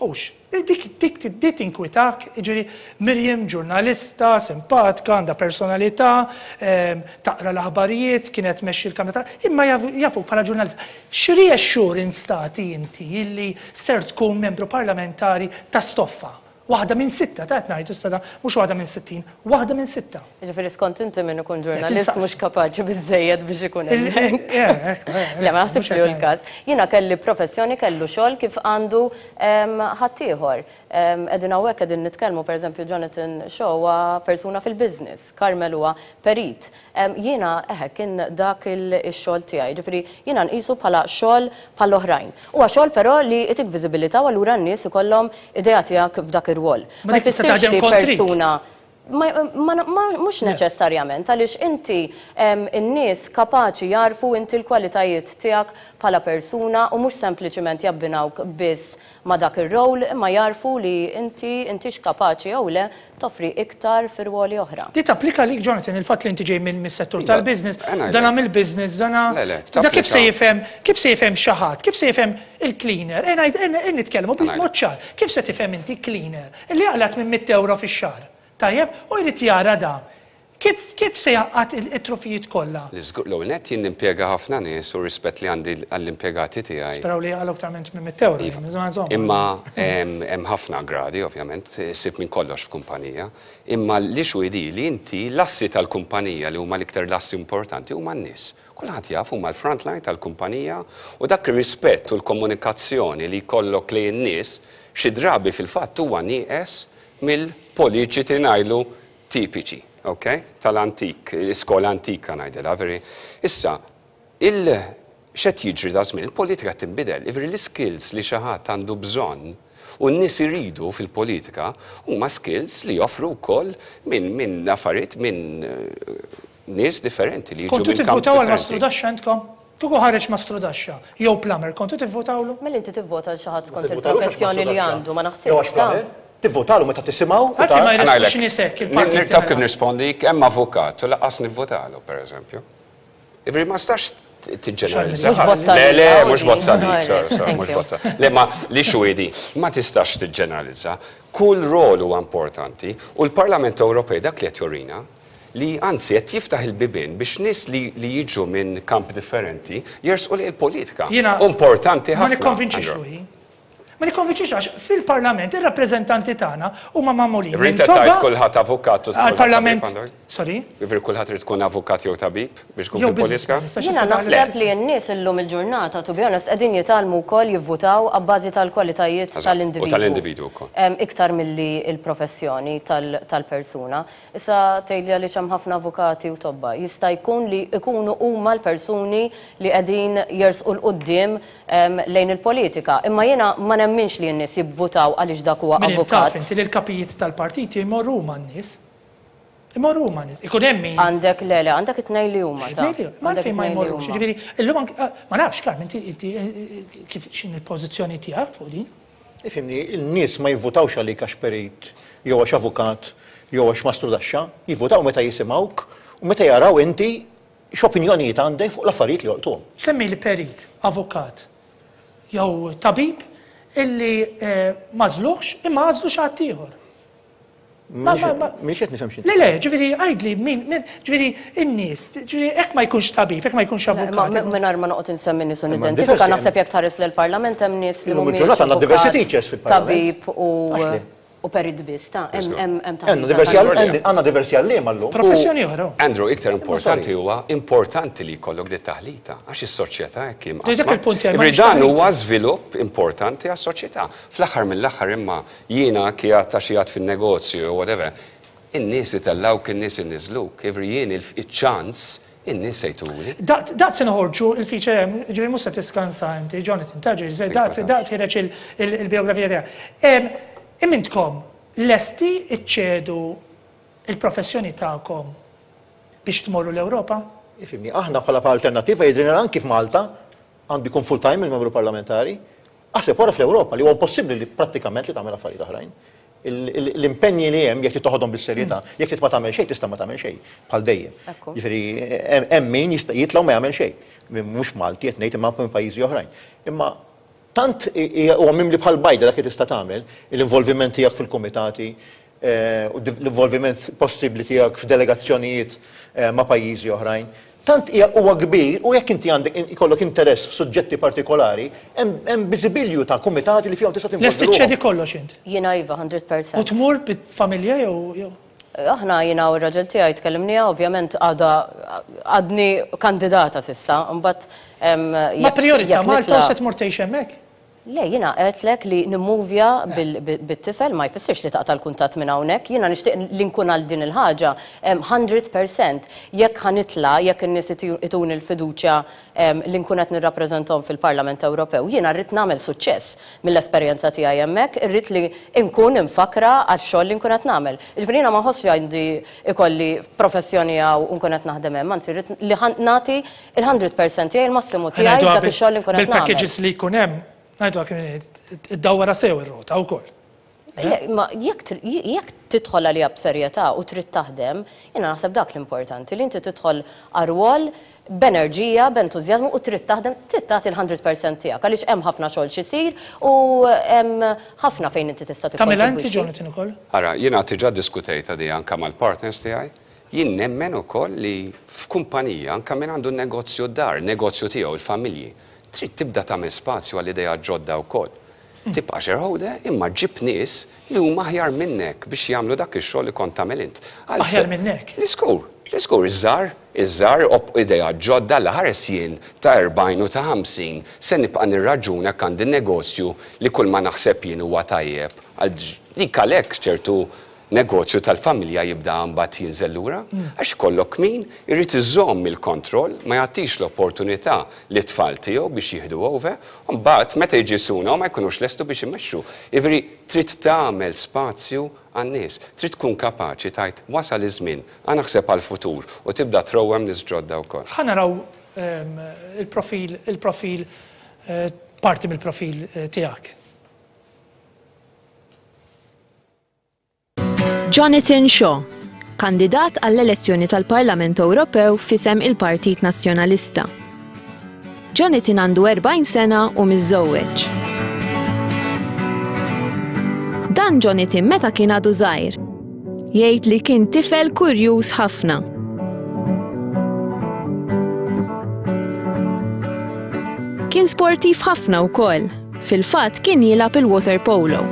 Hux, dik dik dik tinkwitak, jiġifieri Miriam ġurnalista, simpatka, għandha personalità, taqra l-aħbarijiet, kienet tmexxi l-Kamra tal imma jafuk bħala ġurnalista. X'reassurance tagħti inti illi ser tkun membru parlamentari ta' stoffa? Waħda minn sitta, ta' qed ngħidu issa da, mhux waħda minn 60, waħda minn sitta. Jiġifieri skont inti min ikun ġurnalist mhux kapaċi biżżejjed biex ikun hemmhekk. Le ma naħsibx li hu l-każ. Jiena kelli professjoni, kellu xogħol kif għandu ħaddieħor. Qegħdin hawnhekk qegħdin nitkellmu pereżempju Jonathan Shaw huwa persuna fil-business, Carmel huwa perit. Jiena eħe kien dak ix-xogħol tiegħi. Jiġifieri jiena nqisu bħala xogħol bħall-oħrajn. Huwa xogħol però li jtik viżibilità u allura n-nies ikollhom idea tiegħek f'dak ir-rwol. Ma Ma dik tista' jfissirx taħdem li kontrik. persuna Ma, ma, ma, mhux neċessarjament, għaliex inti in-nies kapaċi jagħrfu inti l-kwalitajiet tiegħek bħala persuna u mhux sempliċiment jabbinawk biss ma' dak ir-role, imma jagħrfu li inti intix kapaċi jew le toffri iktar fi rwoli oħra. Di tapplika għalik Jonathan, il-fatt li inti ġej minn mis-settur Iva, tal-business, eh, ngħidlek. dana mill-business, dana. Le, le, Da kif se tapplika. jifhem, kif se jifhem xi ħadd, kif se jifhem il-cleaner, eh ngħid, eh nitkellmu Ngħidlek. b'mod ċar, kif se tifhem inti cleaner li jaqla' 800 ewro fix-xahar, tajjeb, u jrid jara da. Kif, kif se jgħaqqad it-trufijiet kollha? Li żgur, l-ewwel nett jien nimpjega ħafna nies u rispett li għandi għall-impjegati tiegħi. Speraw li jaqalgħu iktar minn 800 ewro. Iva. Insomma. Imma hemm ħafna gradi, ovvjament, issib minn kollox f'kumpanija. Imma l-issue hi li inti l-assi tal-kumpanija li huma l-iktar l-assi importanti huma n-nies. Kulħadd jaf huma l-front line tal-kumpanija u dak ir-rispett u l-komunikazzjoni li jkollok lejn in-nies xi drabi fil-fatt huwa nieqes mill-politiċi ngħidlu tipiċi, ok? Tal-antik, l-iskola antika ngħidilha, veri. Issa, il x'qed jiġri da żmien, il-politika tinbidel, ivri l-skills li xi ħadd għandu bżonn u n-nies iridu fil-politika huma skills li joffru wkoll minn min affarijiet minn nies differenti li jiġu Kontu minn kamp tivvutaw għal differenti. Mastrudaxxa intkom? Kieku ħareġ Mastrudaxxa jew plumber, kontu tivvutawlu? Mela inti tivvota għal xi ħadd skont Tivvotalux għax il-professjoni li Mastrudaxxa. għandu, ma Jew għax naħsibx ta' plumber, Tivvotalu meta tisimgħu u Għalfejn ma tara. jressqux Ngħidlek, nies hekk il-partit Nirtaf kif mela. nirrispondi, hemm avukat u lanqas nivvotalu, per eżempju. Ivri ma stax tiġġeneralizza. Mhux botta Le, le, għalik, mhux bozza Audi. dik, sorry, sorry, Thank mhux you. bozza. Le, ma li xwiedi, ma tistax tiġġeneralizza. Kull rol huwa importanti u l-Parlament Ewropej dak li qed jorina li anzi qed jiftaħ il-bibien biex nies li, li jiġu minn kamp differenti jersqu li l-politika. Jiena Importanti Ma ħafna. nikkonvinċix Andrew. ruħi. Ma nikkonvinċix għax fil-parlament ir-rappreżentanti tagħna huma magħmulin minn Rita tajt tobba kulħadd avukat u għal-parlament kulħadd tabib għandu. Sorry? Jiġifieri kulħadd irid ikun avukat jew tabib biex ikun fil-politika? Jiena naħseb li n-nies illum il-ġurnata, to be honest, qegħdin jitgħallmu wkoll jivvutaw abbażi tal-kwalitajiet tal-individwu. U tal-individwu wkoll. Iktar milli l-professjoni tal-persuna. Issa tgħidli għaliex hemm ħafna avukati u tobba. Jista' jkun li jkunu huma l-persuni li qegħdin jersqu 'l quddiem lejn il-politika. Imma jiena ma nemminx li n-nies jivvutaw għaliex dak huwa avukat. Min taf inti li l-kapijiet tal-partiti jmorru huma n-nies. Imorru huma nies. Ikun hemm min. Għandek le le, għandek it-tnejn li huma ta. Ma għalfejn ma jmorrux. Jiġifieri illum anke ma nafx Carm inti inti kif x'inhi l-pożizzjoni tiegħek fuq din? Ifhimni, in-nies ma jivvutawx għalik għax perit jew għax avukat jew għax mastrudaxxa, jivvutaw meta jisimgħuk u meta jaraw inti x'opinjonijiet għandek fuq l-affarijiet li jolqtuhom. Semmili perit, avukat jew tabib illi m'għażluhx imma għażlu xi ħadd ieħor. Mhix qed nifhem x'inti. Le, le, ġifieri għidli min, ġifieri in-nies, ġifieri hekk ma jkunx tabib, hekk ma jkunx avukat. Mingħajr ma noqgħod insemmi nies u nidentifika, naħseb jekk tħares lill-Parlament hemm nies li mhumiex avukat, tabib u perit biss, ta' hemm Għandna diversi għalliema llum. Professjoni oħra. Andrew, iktar importanti huwa importanti li jkollok dit taħlita għax is-soċjetà hekk hi mqassma. Dak il-punt tiegħi. Dan huwa żvilupp importanti għas-soċjetà. Fl-aħħar mill-aħħar imma Jiena qiegħed għax qiegħed fin-negozju jew whatever, in-nies itellgħuk, in-nies iniżżluk, jiġifieri jien iċ-ċans in-nies se jtuni. Daqt daqt se noħorġu l-feature hemm, jiġifieri mhux se tiskansa inti, Jonathan, ta' ġifieri se daqt daqt ħireġ il-bijografija tiegħek. Imma intkom lesti ċċedu l-professjoni tagħkom biex tmorru l-Ewropa? Ifhimni, aħna bħala Alternattiva jidhrilna anki f'Malta għandu jkun full-time il-membru parlamentari. Aħseb wara fl-Ewropa li huwa impossibbli li prattikament li tagħmel affarijiet oħrajn. L-impenji li hemm jekk trid toħodhom bis-serjetà, jekk trid ma tagħmel xejn tista' ma tagħmel xejn bħal dejjem. Jiġifieri hemm min jista' jitla' u ma jagħmel xejn. Mhux Malti qed ngħid imma minn pajjiżi oħrajn. Imma tant huwa mimli bħal bajda dak li tista' tagħmel, l-involviment tiegħek fil-kumitati, u l-involviment possibbli tiegħek f'delegazzjonijiet ma' pajjiżi oħrajn, tant hija huwa kbir u jekk inti għandek ikollok interess f'suġġetti partikolari, hemm biżibilju ta' kumitati li fihom tista' tinvolvi Lest iċċedi kollox int? Jiena iva, 100%. U tmur bit-familja jew jew? Aħna jiena u r-raġel tiegħi tkellimniha, ovvjament għadha għadni kandidata s'issa, imbagħad Ma prijorità Malta u se tmur tgħix hemmhekk? Le, jiena għedtlek li nimmuvja bit-tifel ma jfissirx li taqta' l-kuntatt minn hawnhekk. Jiena nixtieq li nkun għal din il-ħaġa 100%. Jekk ħa nitla', jekk in-nies ituni l-fiduċja li nkun qed nirrappreżentahom fil-Parlament Ewropew, jiena rrid nagħmel suċċess mill-esperjenza tiegħi hemmhekk, irrid li nkun imfakkra għax-xogħol li nkun qed nagħmel. Jiġifieri jiena ma nħossx li għandi ikolli professjoni hawn u nkun qed naħdem hemm, anzi rrid li nagħti Il-100% tiegħi, il-massimu tiegħi f'dak ix-xogħol li nkun qed nagħmel. Bil-packages li jkun hemm, ngħidu kif iddawwarha sew ir-rota wkoll. Le, ma jekk jekk tidħol għaliha b'serjetà u trid taħdem, jiena naħseb dak l-importanti, li inti tidħol għar-rwol b'enerġija, b'entużjażmu u trid taħdem, trid tagħti l-100% tiegħek għaliex hemm ħafna xogħol x'isir u hemm ħafna fejn inti tista' tikkontribwixxi. Tagħmilha inti Jonathan ukoll? Ara, jiena diġà ddiskutejtha di anke mal-partners tiegħi. Jien nemmen ukoll li f'kumpanija, anke min għandu negozju d-dar, negozju tiegħu, il-familji, trid tibda tagħmel spazju għal ideat ġodda wkoll. Tibqa' shareholder imma ġib nies li huma aħjar minnek biex jagħmlu dak ix-xogħol li kont tagħmel int. Aħjar minnek? Żgur, żgur, iż-żgħar, iż-żgħar, ideat ġodda, alla ħares jien ta' 40 u ta' 50 se nibqa' nirraġuna jekk għandi negozju li kull ma naħseb jien huwa tajjeb għal dik għalhekk ċertu negozju tal-familja jibda mbagħad jinżel lura, għax ikollok min irid iżomm il-kontroll, ma jagħtix l-opportunità lit-tfal tiegħu biex jieħdu over, u mbagħad meta jiġi suna ma jkunux lestu biex imexxu. Jiġifieri trid tagħmel spazju għan-nies, trid tkun kapaċi tgħid wasal iż-żmien, ħa naħseb għall-futur u tibda trawwem nies ġodda wkoll. Ħa naraw il-profil, il-profil, parti mill-profil tiegħek. Jonathan Shaw, kandidat għall-elezzjoni tal-Parlament Ewropew f'isem il-Partit Nazzjonalista. Jonathan għandu 40 sena u miżżewweġ. Dan Jonathan meta kien għadu żgħir. Jgħid li kien tifel kurjuż ħafna. Kien sportiv ħafna wkoll. Fil-fatt kien jilgħab il-waterpolo.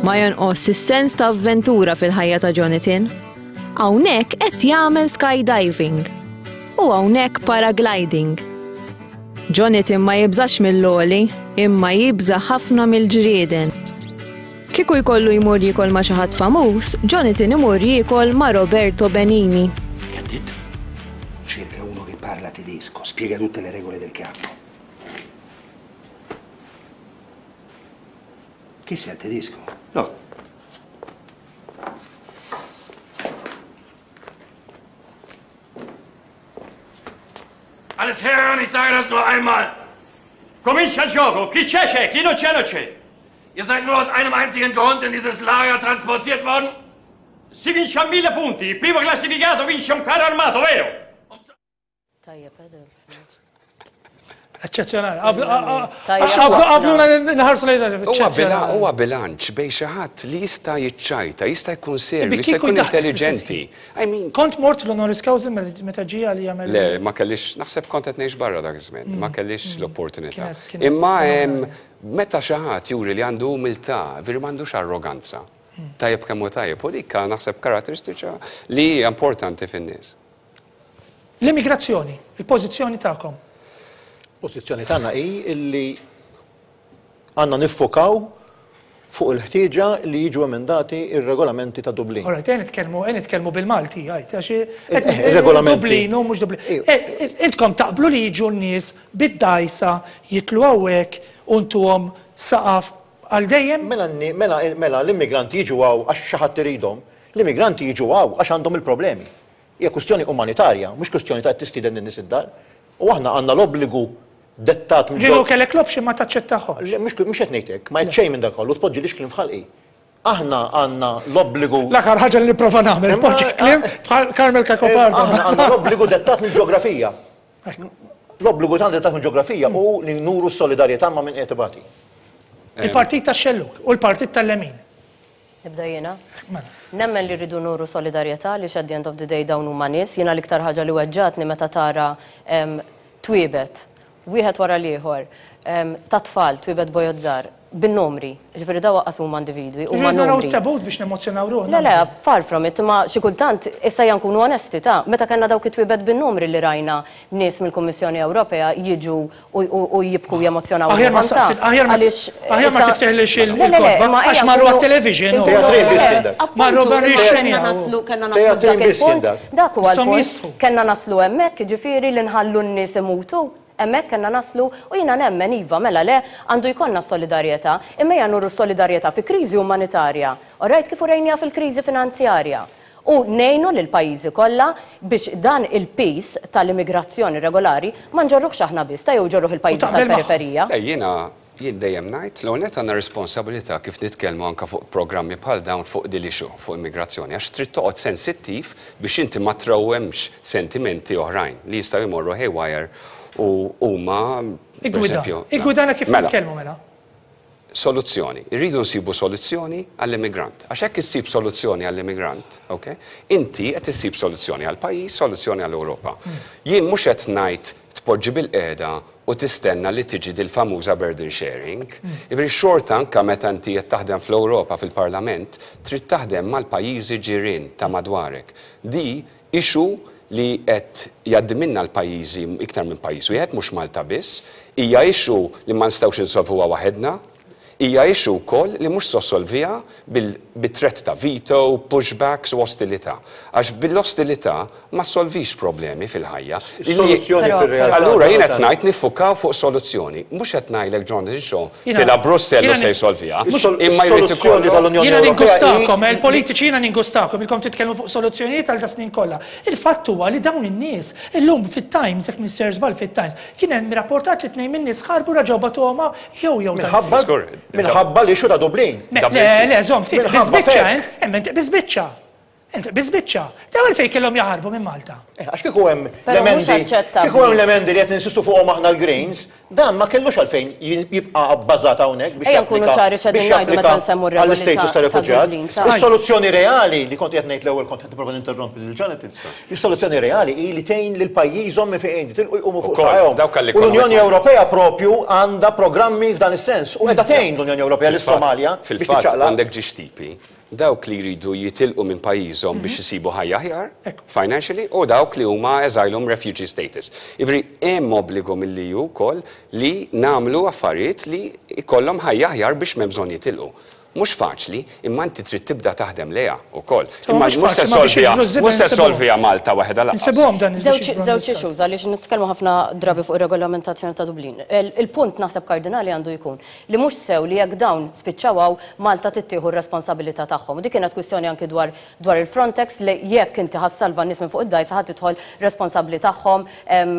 Ma jonqos is-sens ta' avventura fil-ħajja ta' Jonathan. Hawnhekk qed jagħmel skydiving u hawnhekk paragliding. Jonathan ma jibżax mill-għoli, imma jibża' ħafna mill-ġrieden. Kieku jkollu jmur jiekol ma' xi ħadd famuż, Jonathan imur jiekol ma' Roberto Benigni. Che ha detto? Cerca uno che parla tedesco, spiega tutte le regole del campo. Che sei tedesco? No. Alles herhören, ich sage das nur einmal. Comincia il gioco, chi c'è c'è, chi non c'è non c'è. Ihr seid nur aus einem einzigen Grund in dieses Lager transportiert worden? Si vince a mille punti, il primo classificato vince un carro armato, vero? Tajjeb, Eċċezzjonali. Qabluna nħarsu lejn Huwa bilanċ bejn xi ħadd li jista' jiċċajta, jista' jkun serju, jista' jkun intelligenti. I mean, Kont mort l-honoris causa meta ġie għal jagħmel. Le, ma kellix, naħseb kont qed ngħix barra dak iż-żmien, ma kellix l-opportunità. Imma meta xi ħadd juri li għandu umiltà, veri m'għandux arroganza. Tajjeb kemm hu tajjeb, u dik naħseb karatteristiċa li hija importanti fin-nies. L-immigrazzjoni, il-pożizzjoni tagħkom. Pożizzjoni tagħna hi illi għandna niffokaw fuq il-ħtieġa li jiġu emendati ir-regolamenti ta' Dublin. All right, ejja nitkellmu, ejja nitkellmu bil-Malti, għajt, għax Ir-regolamenti. Dublin u mhux Dublin. Intkom taqblu li jiġu n-nies bid-dgħajsa jitlu hawnhekk u ntuhom saqaf għal dejjem? Mela, mela, mela l-immigranti jiġu hawn għax xi ħadd iridhom, l-immigranti jiġu hawn għax għandhom il-problemi. Hija kwistjoni umanitarja, mhux kwistjoni ta' qed tistieden lin-nies id-dar. U aħna għandna l-obbligu dettat mill. Ġieli kellek l-option ma taċċettahomx. Le, mhux mhux qed ngħid hekk, ma għedt xejn minn dak kollu, tpoġġilix kliem f'ħalqi. Aħna għandna l-obbligu. L-aħħar ħaġa li nipprova nagħmel, npoġġi kliem bħal Carmel Cacopardo. Aħna għandna l-obbligu dettat mill-ġeografija. L-obbligu tagħna dettat mill-ġeografija hu li nuru s-solidarjetà ma' min qiegħed ibati. Il-partit tax-xellug u l-partit tal-lemin. Nibda jiena? Mela. Nemmen li rridu nuru solidarjetà għaliex at the end of the day dawn huma nies. Jiena l-iktar ħaġa li weġġgħatni meta tara twiebet, wieħed wara l-ieħor, ta' tfal, twiebet bojod żgħar, bin-numri. Jiġifieri dawn aqqas huma individwi, huma Jiġifieri naraw numri. it-tebut biex nemozzjonaw ruħna. Le, le, far from it, imma xi kultant, issa ejja nkunu onesti, ta' meta kellna dawk it-twiebet bin-numri li rajna nies mill-Kummissjoni Ewropea jiġu u jibku jemozzjonaw. Aħjar ma saqsil, aħjar ma aħjar ma tifteħlix il-kotba, għax marru għat-television. Teatrin biss kien dak. Marru barra Kellna naslu, kellna naslu dak il-punt. Dak huwa l-punt. Kellna naslu hemmhekk, jiġifieri li nħallu n-nies imutu. Hemmhekk kellna naslu u jiena nemmen iva, mela le, għandu jkollna s-solidarjetà, imma ejja nuru s-solidarjetà fi kriżi umanitarja. All right, kif urejniha fil-kriżi finanzjarja. U ngħinu lill-pajjiżi kollha biex dan il-piż tal-immigrazzjoni irregolari ma nġorruhx aħna biss, ta' jew iġorruh il-pajjiżi tal-periferija. Le, jiena, jien dejjem ngħid, l-ewwel nett għandna responsabilità kif nitkellmu anke fuq programmi bħal dawn fuq din l-issue, fuq immigrazzjoni, għax trid toqgħod sensittiv biex inti ma trawwemx sentimenti oħrajn li jistgħu jmorru haywire u huma, pereżempju. Iggwida, iggwidana kif nitkellmu mela. Soluzzjoni. Irridu nsibu soluzzjoni għall-immigrant. Għax jekk issib soluzzjoni għall-immigrant, ok, inti qed issib soluzzjoni għall-pajjiż, soluzzjoni għall-Ewropa. Jien mhux qed ngħid tpoġġi bilqiegħda u tistenna li tiġi dil-famuża burden sharing. Jiġifieri xorta anke meta inti qed taħdem fl-Ewropa fil-Parlament, trid taħdem mal-pajjiżi ġirien ta' madwarek. Di Issue li qed jgħaddi minnha l-pajjiżi iktar minn pajjiż wieħed, mhux Malta biss. Hija issue li ma nistgħux insolvuha waħedna. Hija issue wkoll li mhux se ssolviha bi threat ta' veto, pushbacks u ostilità. Għax bil-ostilità ma ssolvix problemi fil-ħajja. Is-soluzzjoni fir-realtà. Allura jien qed ngħid niffukaw fuq soluzzjoni. Mhux qed ngħidlek Jonathan Shaw tilha Brussell u se jsolviha. Imma jrid ikollok. Jiena ningustakom, il-politiċi jiena ningustakom, ilkom titkellmu fuq soluzzjonijiet għal das-snin kollha. Il-fatt huwa li dawn in-nies, illum fit-Times, jekk m'iniex sejjer żball fit-Times, kien hemm rapportat li tnejn min-nies ħarbu reġgħu bagħtuhom hawn jew jew dan. Minħabba minħabba l-issue ta' Dublin. Le, le, żomm ftit, biżbiċċa int, hemm int biżbiċċa. Int biżbiċċa. Dawn għalfejn kellhom jaħarbu minn Malta? Eh, għax kieku hemm l-emendi, kieku hemm l-emendi li qed ninsistu fuqhom aħna l-Greens, Dan ma kellux għalfejn jibqa' bbażat hawnhekk biex Ejja nkunu japplika ċari x'qegħdin biex ngħidu meta japplika nsemmu r-regoli għall-istatus ta' ta' ta' refuġjat. Dublin ta' Is-soluzzjoni reali li kont qiegħed ngħid l-ewwel kont qed nipprova ninterrompi lil Jonathan. Is-soluzzjoni reali hi li tgħin lil pajjiżhom minn fejn jitilqu jqumu fuq Ukoll, saqajhom. dawk U għall-economic l-Unjoni migrants. Ewropea propju għandha programmi f'dan is-sens u qiegħda tgħin l-Unjoni Ewropea lis-Somalja biex Fil-fatt, tiċċaqlaq. għandek ġiex tipi. Dawk li jridu jitilqu minn pajjiżhom biex isibu ħajja aħjar, financially, u dawk li huma asylum refugee status. Jiġifieri hemm obbligu mill-EU wkoll li nagħmlu affarijiet li jkollhom ħajja aħjar biex m'hemm bżonn jitilqu. Mhux faċli, imma inti trid tibda taħdem lejha wkoll. Imma Imma mhux mhux se faċli, ma biex ssolviha, jiġbru ż-żibel mhux se insibuhom. ssolviha Malta waħedha lanqas. Insibuhom dan biex Żewġ jiġbru żewġ n-nies. issues għaliex nitkellmu ħafna drabi fuq ir-regolamentazzjoni ta' Dublin. Il-punt naħseb kardinali għandu jkun li mhux sew li jekk dawn spiċċaw hawn, Malta trid tieħu r-responsabilità tagħhom. U dik kienet kwistjoni anki dwar dwar il-Frontex li jekk inti ħa ssalva n-nies minn fuq id-dgħajsa ħa tidħol responsabbli tagħhom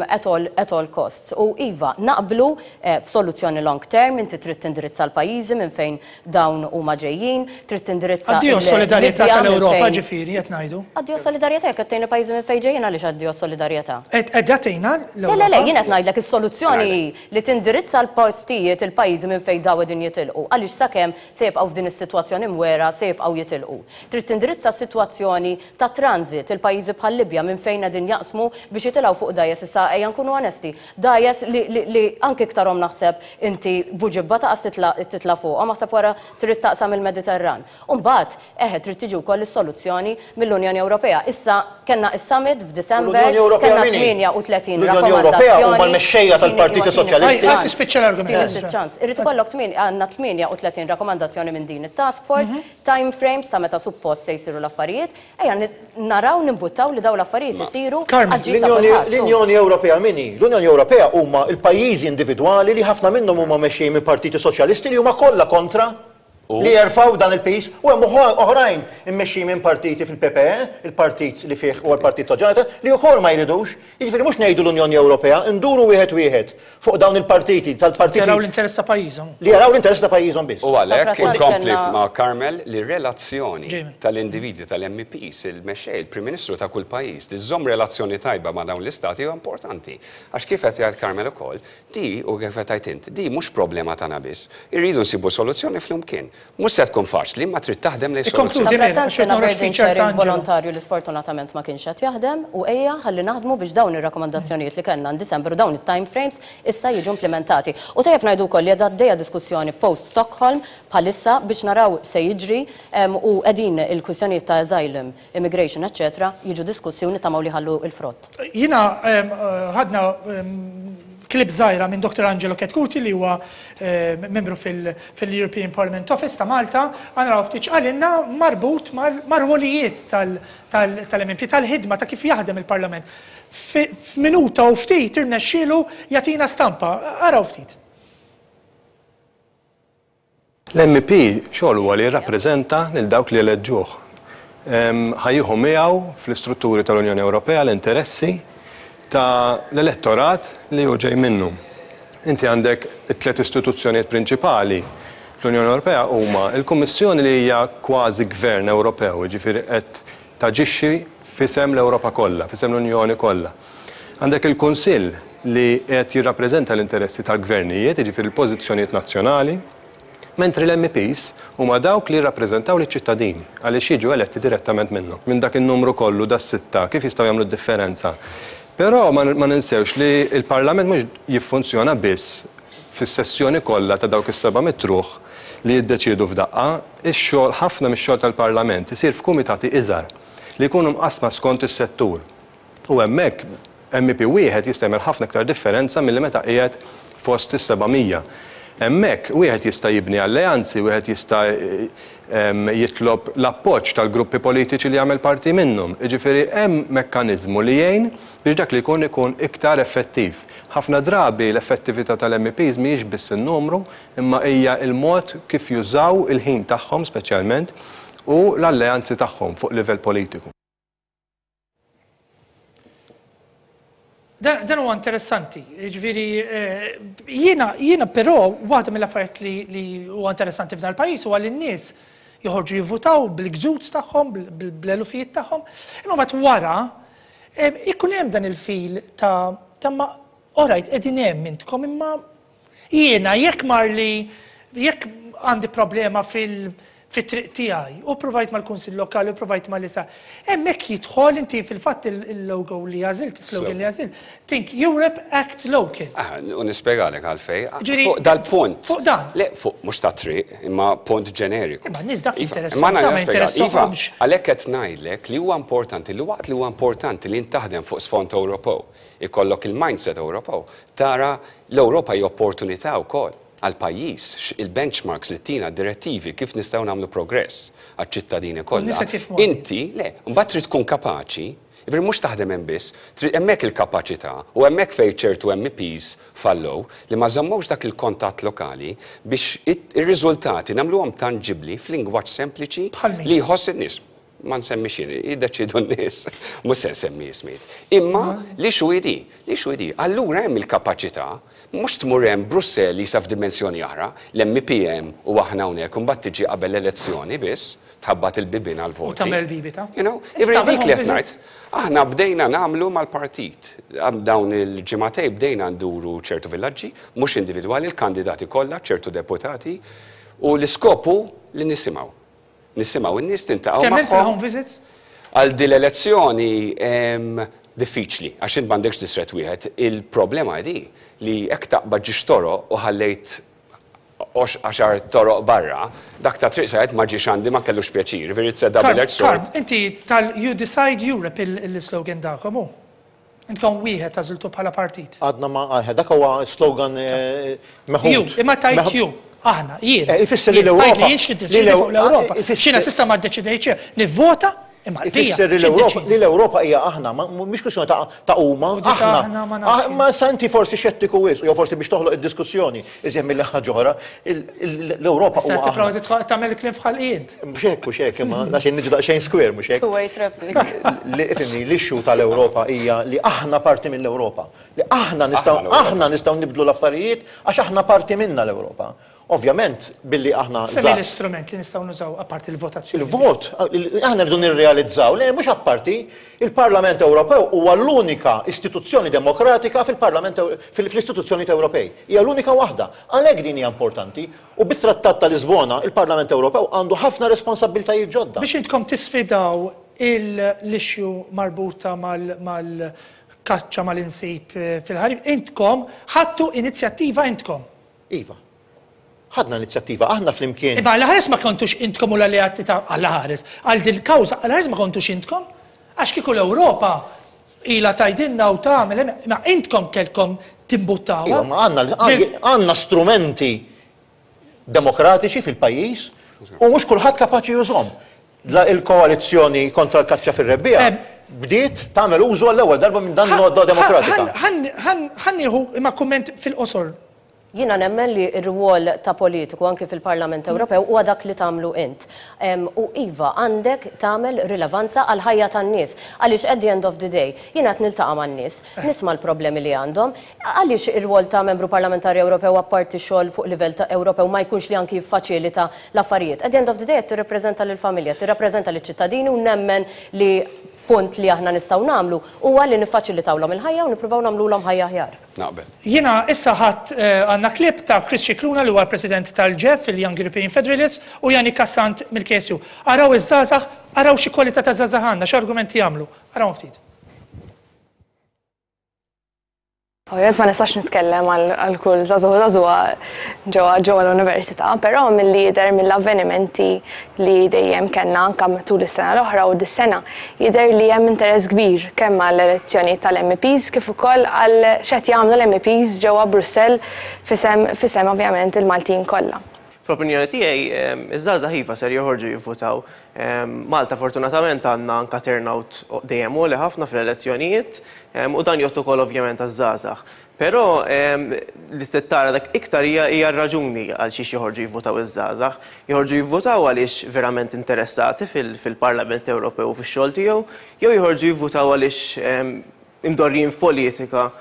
at all at all costs. U iva, naqblu f'soluzzjoni long term, inti trid tindirizza l-pajjiżi minn fejn dawn huma ġejjin, trid tindirizza Addio s-solidarjetà il-Libja minn tal-Ewropa fejn ġifieri qed ngħidu. Addio s-solidarjetà jekk qed tgħin il-pajjiżi minn fejn ġejjin għaliex addio s-solidarjetà? Qed qiegħda tgħinha Le, le, le, l-Ewropa? jien qed ngħidlek is-soluzzjoni hi li tindirizza l-postijiet, il-pajjiżi minn fejn dawn qegħdin jitilqu, għaliex sakemm se jibqgħu f'din is-sitwazzjoni mwegħra se jibqgħu jitilqu. Trid tindirizza s-sitwazzjoni ta' transit, il-pajjiżi bħal-Libja minn fejn qegħdin jaqsmu biex jitilgħu fuq dgħajjes issa ejja nkunu onesti, dgħajjes li li li anki iktarhom naħseb inti Buġibba taqas titla' titla' fuqhom aħseb wara trid taqsam il-Mediterran. U mbagħad, eħe, trid tiġi wkoll is-soluzzjoni mill-Unjoni Ewropea. Issa kellna is-summit U f'December, l-Unjoni Ewropea kellna min hi? 38 L-Unjoni Ewropea huma rakkomandazzjoni. l-mexxejja Tini, tal-Partiti imma tini Soċjalisti. ftit Ħa ċans. tispiċċa l-argument, Tini Ezra. ftit ċans. Irid ikollok tmien, għandna 38 rakkomandazzjoni minn din it-task force, time frames ta' meta suppost se jsiru l-affarijiet. Ejja naraw nimbuttaw li dawn l-affarijiet isiru Carmen, għall-ġid ta' kulħadd. L-Unjoni Ewropea min hi? L-Unjoni Ewropea huma l-pajjiżi individwali li ħafna minnhom huma mexxejjin minn partiti soċjalisti li huma kollha kontra li jerfgħu dan il-piż u hemm oħrajn immexxijin minn partiti fil-PPE, il-partit li fih huwa l-partit ta' Jonathan, li wkoll ma jridux. Jiġifieri mhux ngħidu l-Unjoni Ewropea, induru wieħed wieħed fuq dawn il-partiti tal-partiti. Jaraw l-interess ta' pajjiżhom. Li jaraw l-interess ta' pajjiżhom biss. U għalhekk Safrattant inkompli kellna. ma' Carmel li r-relazzjoni tal-individwi tal-MEPs, il-mexxej, il-Prim Ministru ta' kull pajjiż li żżomm relazzjoni tajba ma' dawn l-istati huwa importanti. Għax kif qed jgħid Carmel ukoll, Di, u kif qed tgħid int, di mhux problema tagħna biss. Irridu nsibu soluzzjoni flimkien. Mhux se tkun faċli, imma trid taħdem lejn soluzzjoni. Ikkonkludi Mary, Sadanittant għax qed kellna noħroġ burden feature ta' sharing Angelo. volontarju li sfortunatament ma kienx qed jaħdem u ejja ħalli naħdmu biex dawn ir-rakkomandazzjonijiet li kellna in December u dawn it-time frames issa jiġu implimentati. U tajjeb ngħidu wkoll li qiegħda għaddejja diskussjoni post Stockholm bħalissa biex naraw x'se jiġri u qegħdin il-kwistjonijiet ta' asylum, immigration eċċetera jiġu diskussi u nittamaw li jħallu l-frott. Jiena ħadna clip żgħira minn Dr. Angelo Chetcuti li huwa membru fil-European Parliament Office ta' Malta, ħa naraw ftit x'qalilna marbut mar-rwolijiet tal-MMP, tal-ħidma ta' kif jaħdem il-Parlament. F'minuta u ftit irnexxielu jagħtina stampa. Araw ftit. L-MEP xogħlu huwa li jirrappreżenta lil dawk li eleġġuh. Ħa jieħu miegħu fl-istrutturi tal-Unjoni Ewropea l-interessi ta' l-elettorat li hu ġej minnu. Inti għandek it-tliet istituzzjonijiet prinċipali fl-Unjoni Ewropea huma l-Kummissjoni li hija kważi gvern Ewropew, jiġifieri qed taġixxi f'isem l-Ewropa kollha, f'isem l-Unjoni kollha. Għandek il-Kunsill li qiegħed jirrappreżenta l-interessi tal-gvernijiet, jiġifieri l-pożizzjonijiet nazzjonali, mentri l-MEPs huma dawk li jirrappreżentaw liċ-ċittadini għaliex jiġu eletti direttament minnhom. Minn dak in-numru kollu, das-sitta, kif jistgħu jagħmlu d-differenza? Però ma ninsewx li l-Parlament mhux jiffunzjona biss fis-sessjoni kollha ta' dawk is-700 ruħ li jiddeċiedu f'daqqa, ix-xogħol, ħafna mix-xogħol tal-Parlament isir f'kumitati iżgħar li jkunu mqassma skont is-settur. U hemmhekk MEP wieħed jista' jagħmel ħafna iktar differenza milli meta qiegħed fost is-700. Hemmhekk wieħed jista' jibni alleanzi, wieħed jista' jitlob l-appoġġ tal-gruppi politiċi li jagħmel parti minnhom. Jiġifieri hemm mekkaniżmu li jgħin biex dak li jkun ikun iktar effettiv. Ħafna drabi l-effettività tal-MEPs mhijiex biss in-numru imma hija l-mod kif jużaw il-ħin tagħhom speċjalment u l-alleanzi tagħhom fuq livell politiku. Dan huwa interessanti, jiġifieri jiena jiena però waħda mill-affarijiet li li huwa interessanti f'dan il-pajjiż huwa li n-nies joħorġu jivvutaw bil-gżuz tagħhom, bl-elufijiet tagħhom, imma mbagħad wara ikun hemm dan il-fil ta' ta' ma alright qegħdin hemm intkom imma Jiena jekk marli jekk għandi problema fil fit-triq tiegħi u provajt mal-Kunsill Lokali u provajt mal-isa. Hemmhekk jidħol inti fil-fatt il-logo li għażilt, is-slogan li għażilt, Think Europe, Act Local. Ah, u nispjegalek għalfejn. Fuq dal-punt. Fuq dan. Le, fuq mhux ta' triq, imma punt ġeneriku. Imma n-nies dak iva, jinteressahom, ma jinteressahomx. Iva, għalhekk qed ngħidlek li huwa importanti li waqt li huwa importanti li taħdem fuq sfond Ewropew, ikollok il-mindset Ewropew, tara l-Ewropa hija opportunità wkoll għall-pajjiż, il-benchmarks li tina d-direttivi kif nistgħu nagħmlu progress għaċ-ċittadini kollha. Inti, le, mbagħad trid tkun kapaċi, jiġifieri mhux taħdem hemm biss, trid hemmhekk il-kapaċità u hemmhekk fejn ċertu MEPs fallew li ma żammewx dak il-kontatt lokali biex ir-riżultati nagħmluhom tanġibbli f'lingwaġġ sempliċi li jħoss in-nies. Ma nsemmix jien, jiddeċiedu n-nies, mhux se nsemmi ismijiet. Imma l-issue hi di, l-issue hi di. Allura hemm il-kapaċità, mhux tmur hemm Brussell qisha f'dimensjoni oħra, l-MEP hemm u aħna hawnhekk u mbagħad tiġi qabel l-elezzjoni biss, tħabbat il-bibien għall-voti. U tagħmel bibita. You know, jiġifieri dik li qed ngħid. Aħna bdejna nagħmlu mal-partit. Dawn il-ġimagħtejn bdejna nduru ċertu villaġġi, mhux individwali, il-kandidati kollha, ċertu deputati, u l-iskop hu li nisimgħu. Nisimgħu n-nies, niltaqgħu magħhom. Temmen fil-home visits? Għal din l-elezzjoni diffiċli, għax int m'għandekx distrett wieħed. Il-problema hi li jekk taqbad ġiex toroq u ħallejt għaxar toroq barra, dak ta' triq sajt ma ġiex għandi ma kellux pjaċir, jiġifieri it's a double-edged sword. Karm, inti tal You Decide Europe il-slogan tagħkom hu? Intkom wieħed għażiltu bħala partit. Għadna ma, dak huwa slogan meħud. You, imma tajt you. Aħna, jien. Ifisser li l-Ewropa. Tajt li jien x'niddeċiedi fuq l-Ewropa. X'jiena s'issa ma ddeċidejt xejn. Nivvota imma l-bqija. Ifisser li l-Ewropa hija aħna, mhix kwistjoni ta' huma, aħna. Ma sa inti forsi xettiku wisq, jew forsi biex toħloq id-diskussjoni, iżjed milli ħaġa oħra, l-Ewropa huwa. Issa tipprova tagħmel il-kliem f'ħalqi int. Mhux hekk, mhux hekk, imma għax niġu daqsxejn square, mhux hekk. Two-way traffic. Li ifhimni, l-issue tal-Ewropa hija li aħna parti mill-Ewropa. Li aħna nistgħu aħna nistgħu nibdlu l-affarijiet għax aħna parti minnha l-Ewropa. Ovvjament, billi aħna. Semmi l-istrument li nistgħu nużaw apparti l-votazzjoni. Il-vot, aħna rridu nirrealizzaw, le mhux apparti, il-Parlament Ewropew huwa l-unika istituzzjoni demokratika fil-Parlament fl-istituzzjonijiet Ewropej. Hija l-unika waħda. Għalhekk din hija importanti. U bit-Trattat ta' Lisbona, il-Parlament Ewropew għandu ħafna responsabbiltajiet ġodda. Biex intkom tisfidaw l-issue marbuta mal-kaċċa mal-insib fil-ħarif, intkom ħadtu inizjattiva intkom. Iva. Ħadna inizjattiva, aħna flimkien. Imma għall-ħares ma kontux intkom u l-alleati ta' għall-ħares, għal dil-kawża għall-ħares ma kontux intkom. Għax kieku l-Ewropa ilha tgħidilna u tagħmel, imma intkom kellkom timbuttawha. Iva, ma għandna għandna strumenti demokratiċi fil-pajjiż u mhux kulħadd kapaċi jużhom. Il-koalizzjoni kontra l-kaċċa fir-rebbiegħa bdiet tagħmel użu għall-ewwel darba minn dan l-għodda demokratika. Ħa nieħu imma kumment fil-qosor. Jiena nemmen li r-rwol ta' politiku anki fil-Parlament Ewropew huwa dak li tagħmlu int. U iva, għandek tagħmel rilevanza għall-ħajja tan-nies. Għaliex at the end of the day, jiena qed niltaqa' man-nies, nisma' l-problemi li għandhom. Għaliex ir-rwol ta' Membru Parlamentari Ewropew apparti xogħol fuq livell ta' Ewropew ma jkunx li anki jiffaċilita l-affarijiet? At the end of the day qed tirrappreżenta lill-familja, tirrappreżenta liċ-ċittadini u nemmen li punt li aħna nistgħu nagħmlu huwa li niffaċilitawlhom il-ħajja u nippruvaw nagħmlulhom ħajja aħjar. Naqbel. Jiena issa ħadt għandna clip ta' Chris Scicluna li huwa l-President tal-GEF, il-Young European Federalists, u Yannick Assant mill-KSU. Araw iż-żgħażagħ, araw xi kwalità ta' żgħażagħ għandna, x'argumenti jagħmlu. Arawhom ftit. Ovvjament ma nistax nitkellem għal kull żagħżugħ u żagħżugħa ġewwa ġewwa l-università, però milli jidher mill-avvenimenti li dejjem kellna anke matul is-sena l-oħra u dis-sena, jidher li hemm interess kbir kemm għall-elezzjonijiet tal-MEPs kif ukoll għal x'qed jagħmlu l-MEPs ġewwa Brussell f'isem f'isem ovvjament il-Maltin kollha. Fl-opinjoni tiegħi, iż-żgħażagħ iva ser joħorġu jivvutaw. Malta fortunatament għandna anke turnout dejjem għoli ħafna fl-elezzjonijiet u dan jgħodd ukoll ovvjament għaż-żgħażagħ. Però li trid tara dak iktar hija hija r-raġuni għal xiex joħorġu jivvutaw iż-żgħażagħ. Joħorġu jivvutaw għaliex verament interessati fil-Parlament Ewropew u fix-xogħol tiegħu, jew joħorġu jivvutaw għaliex imdorrijin f'politika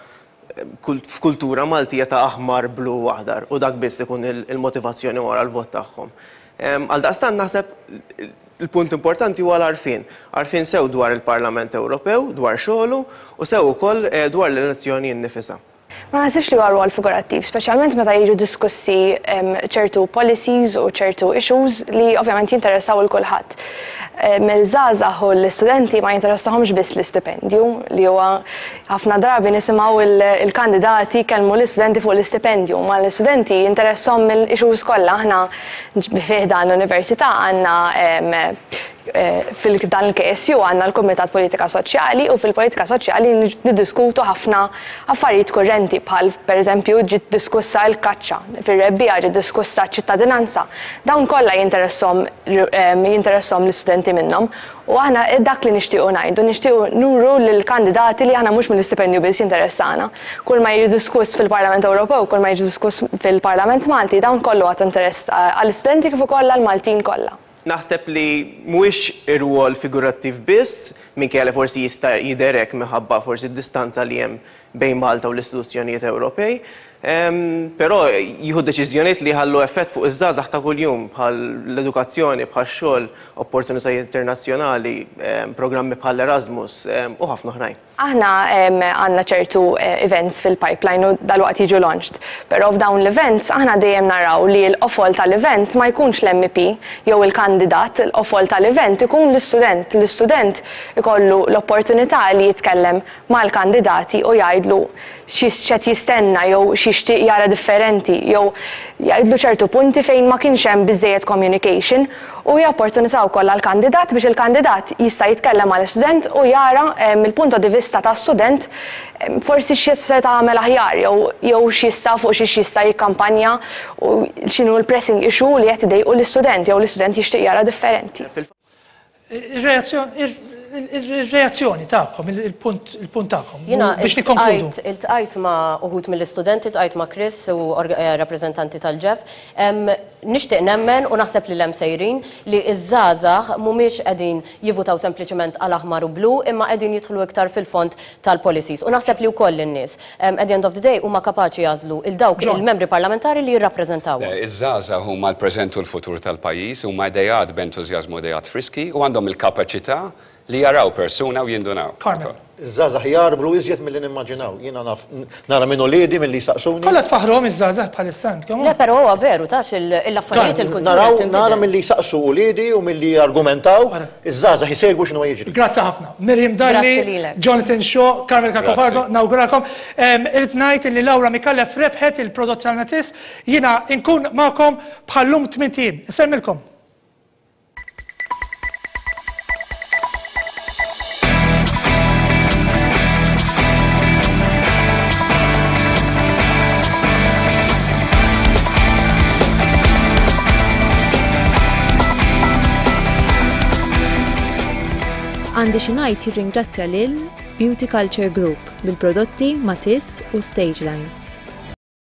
f'kultura Maltija ta' aħmar, blu u aħdar u dak biss ikun il-motivazzjoni wara l-vot tagħhom. Għaldaqstant naħseb il-punt importanti huwa l-għarfien. Għarfien sew dwar il-Parlament Ewropew, dwar xogħlu u sew ukoll dwar l-elezzjoni nnifisha. Ma naħsibx li huwa rwol figurattiv, speċjalment meta jiġu diskussi ċertu policies u ċertu issues li ovvjament jinteressaw 'il kulħadd. Iż-żgħażagħ u l-istudenti ma jinteressahomx biss l-istipendju li huwa ħafna drabi nisimgħu l-kandidati jkellmu l-istudenti fuq l-istipendju, ma l-istudenti jinteressahom mill-issues kollha. Aħna fi ħdan l-università għandna fil-dan il-KSU għandna l-Kumitat Politika Soċjali u fil-politika soċjali niddiskutu ħafna affarijiet kurrenti bħal pereżempju ġiet diskussa l-kaċċa, fir-rebbiegħa ġiet diskussa ċ-ċittadinanza. Dawn kollha jinteresshom jinteresshom l-istudenti minnhom u aħna dak li nixtiequ ngħidu, nixtiequ nuru lill-kandidati li aħna mhux mill-istipendju biss jinteressana. Kull ma jiġi diskuss fil-Parlament Ewropew, kull ma jiġi diskuss fil-Parlament Malti, dawn kollu għad interess għall-istudenti kif ukoll għall-Maltin kollha. Naħseb li mhuwiex irwol figurattiv biss, minkejja li forsi jista' jidher hekk minħabba forsi d-distanza li hemm bejn Malta u l-istituzzjonijiet Ewropej, però jieħu deċiżjonijiet li jħallu effett fuq iż-żgħażagħ ta' kuljum bħal l-edukazzjoni, bħax-xogħol, opportunitajiet internazzjonali, programmi bħall-Erasmus u ħafna oħrajn. Aħna għandna ċertu events fil-pipeline u dalwaqt jiġu launched. Però f'dawn l-events aħna dejjem naraw li l-qofol tal-event ma jkunx l-MEP jew il-kandidat, il-qofol tal-event ikun l-istudent. L-istudent ikollu l-opportunità li jitkellem mal-kandidati u jgħidlu x'qed jistenna jew x'jixtieq jara differenti jew jgħidlu ċertu punti fejn ma kienx hemm biżżejjed communication u hija opportunità wkoll għall-kandidat biex il-kandidat jista' jitkellem mal-istudent u jara mill-punto di vista ta' student forsi x'seta' għamel aħjar jew jew x'jista' fuq xiex jista' jikkampanja u x'inhu l-pressing issue li qed idejqu l-istudent jew l-istudent jixtieq jara differenti. Ir-reazzjoni tagħkom, il-punt tagħkom Jiena biex nikkonkludu. iltqajt ma' uħud mill-istudenti, iltqajt ma' Chris u rappreżentanti tal-ĠEF. Nixtieq nemmen u naħseb li 'l hemm sejrin li ż-żgħażagħ mhumiex qegħdin jivvutaw sempliċement għal aħmar u blu imma qegħdin jidħlu iktar fil-fond tal-policies. U naħseb li wkoll in-nies, at the end of the day, huma kapaċi jagħżlu 'l dawk il-membri parlamentari li jirrappreżentawhom. Le, iż-żgħażagħ huma l-preżent u l-futur tal-pajjiż, huma ideat b'entużjażmu u ideat friski u għandhom il-kapaċità li jaraw persuna u jindunaw. Carmel. Iż-żgħażagħ jgħarblu iżjed milli nimmaġinaw. Jiena naf nara minn uliedi milli jsaqsuni. Kollha tfaħħruhom iż-żgħażagħ bħalissa intkom. Le, però huwa veru, taf l-affarijiet, il-kultura qed tinbidel. Nara milli jsaqsu uliedi u milli jargumentaw, iż-żgħażagħ isegwu x'inhuwa jiġri. Grazzi ħafna. Miriam Dalli, Jonathan Shaw, Carmel Cacopardo, nawguralkom. Irrid ngħid li Laura Micallef rebħet il-prodott tal-Metis. Jiena nkun magħkom bħal-lum tmint ijiem. Insellmilkom. Għandi xi ngħid jirringrazzja lil Beauty Culture Group bil-prodotti Matisse u Stageline.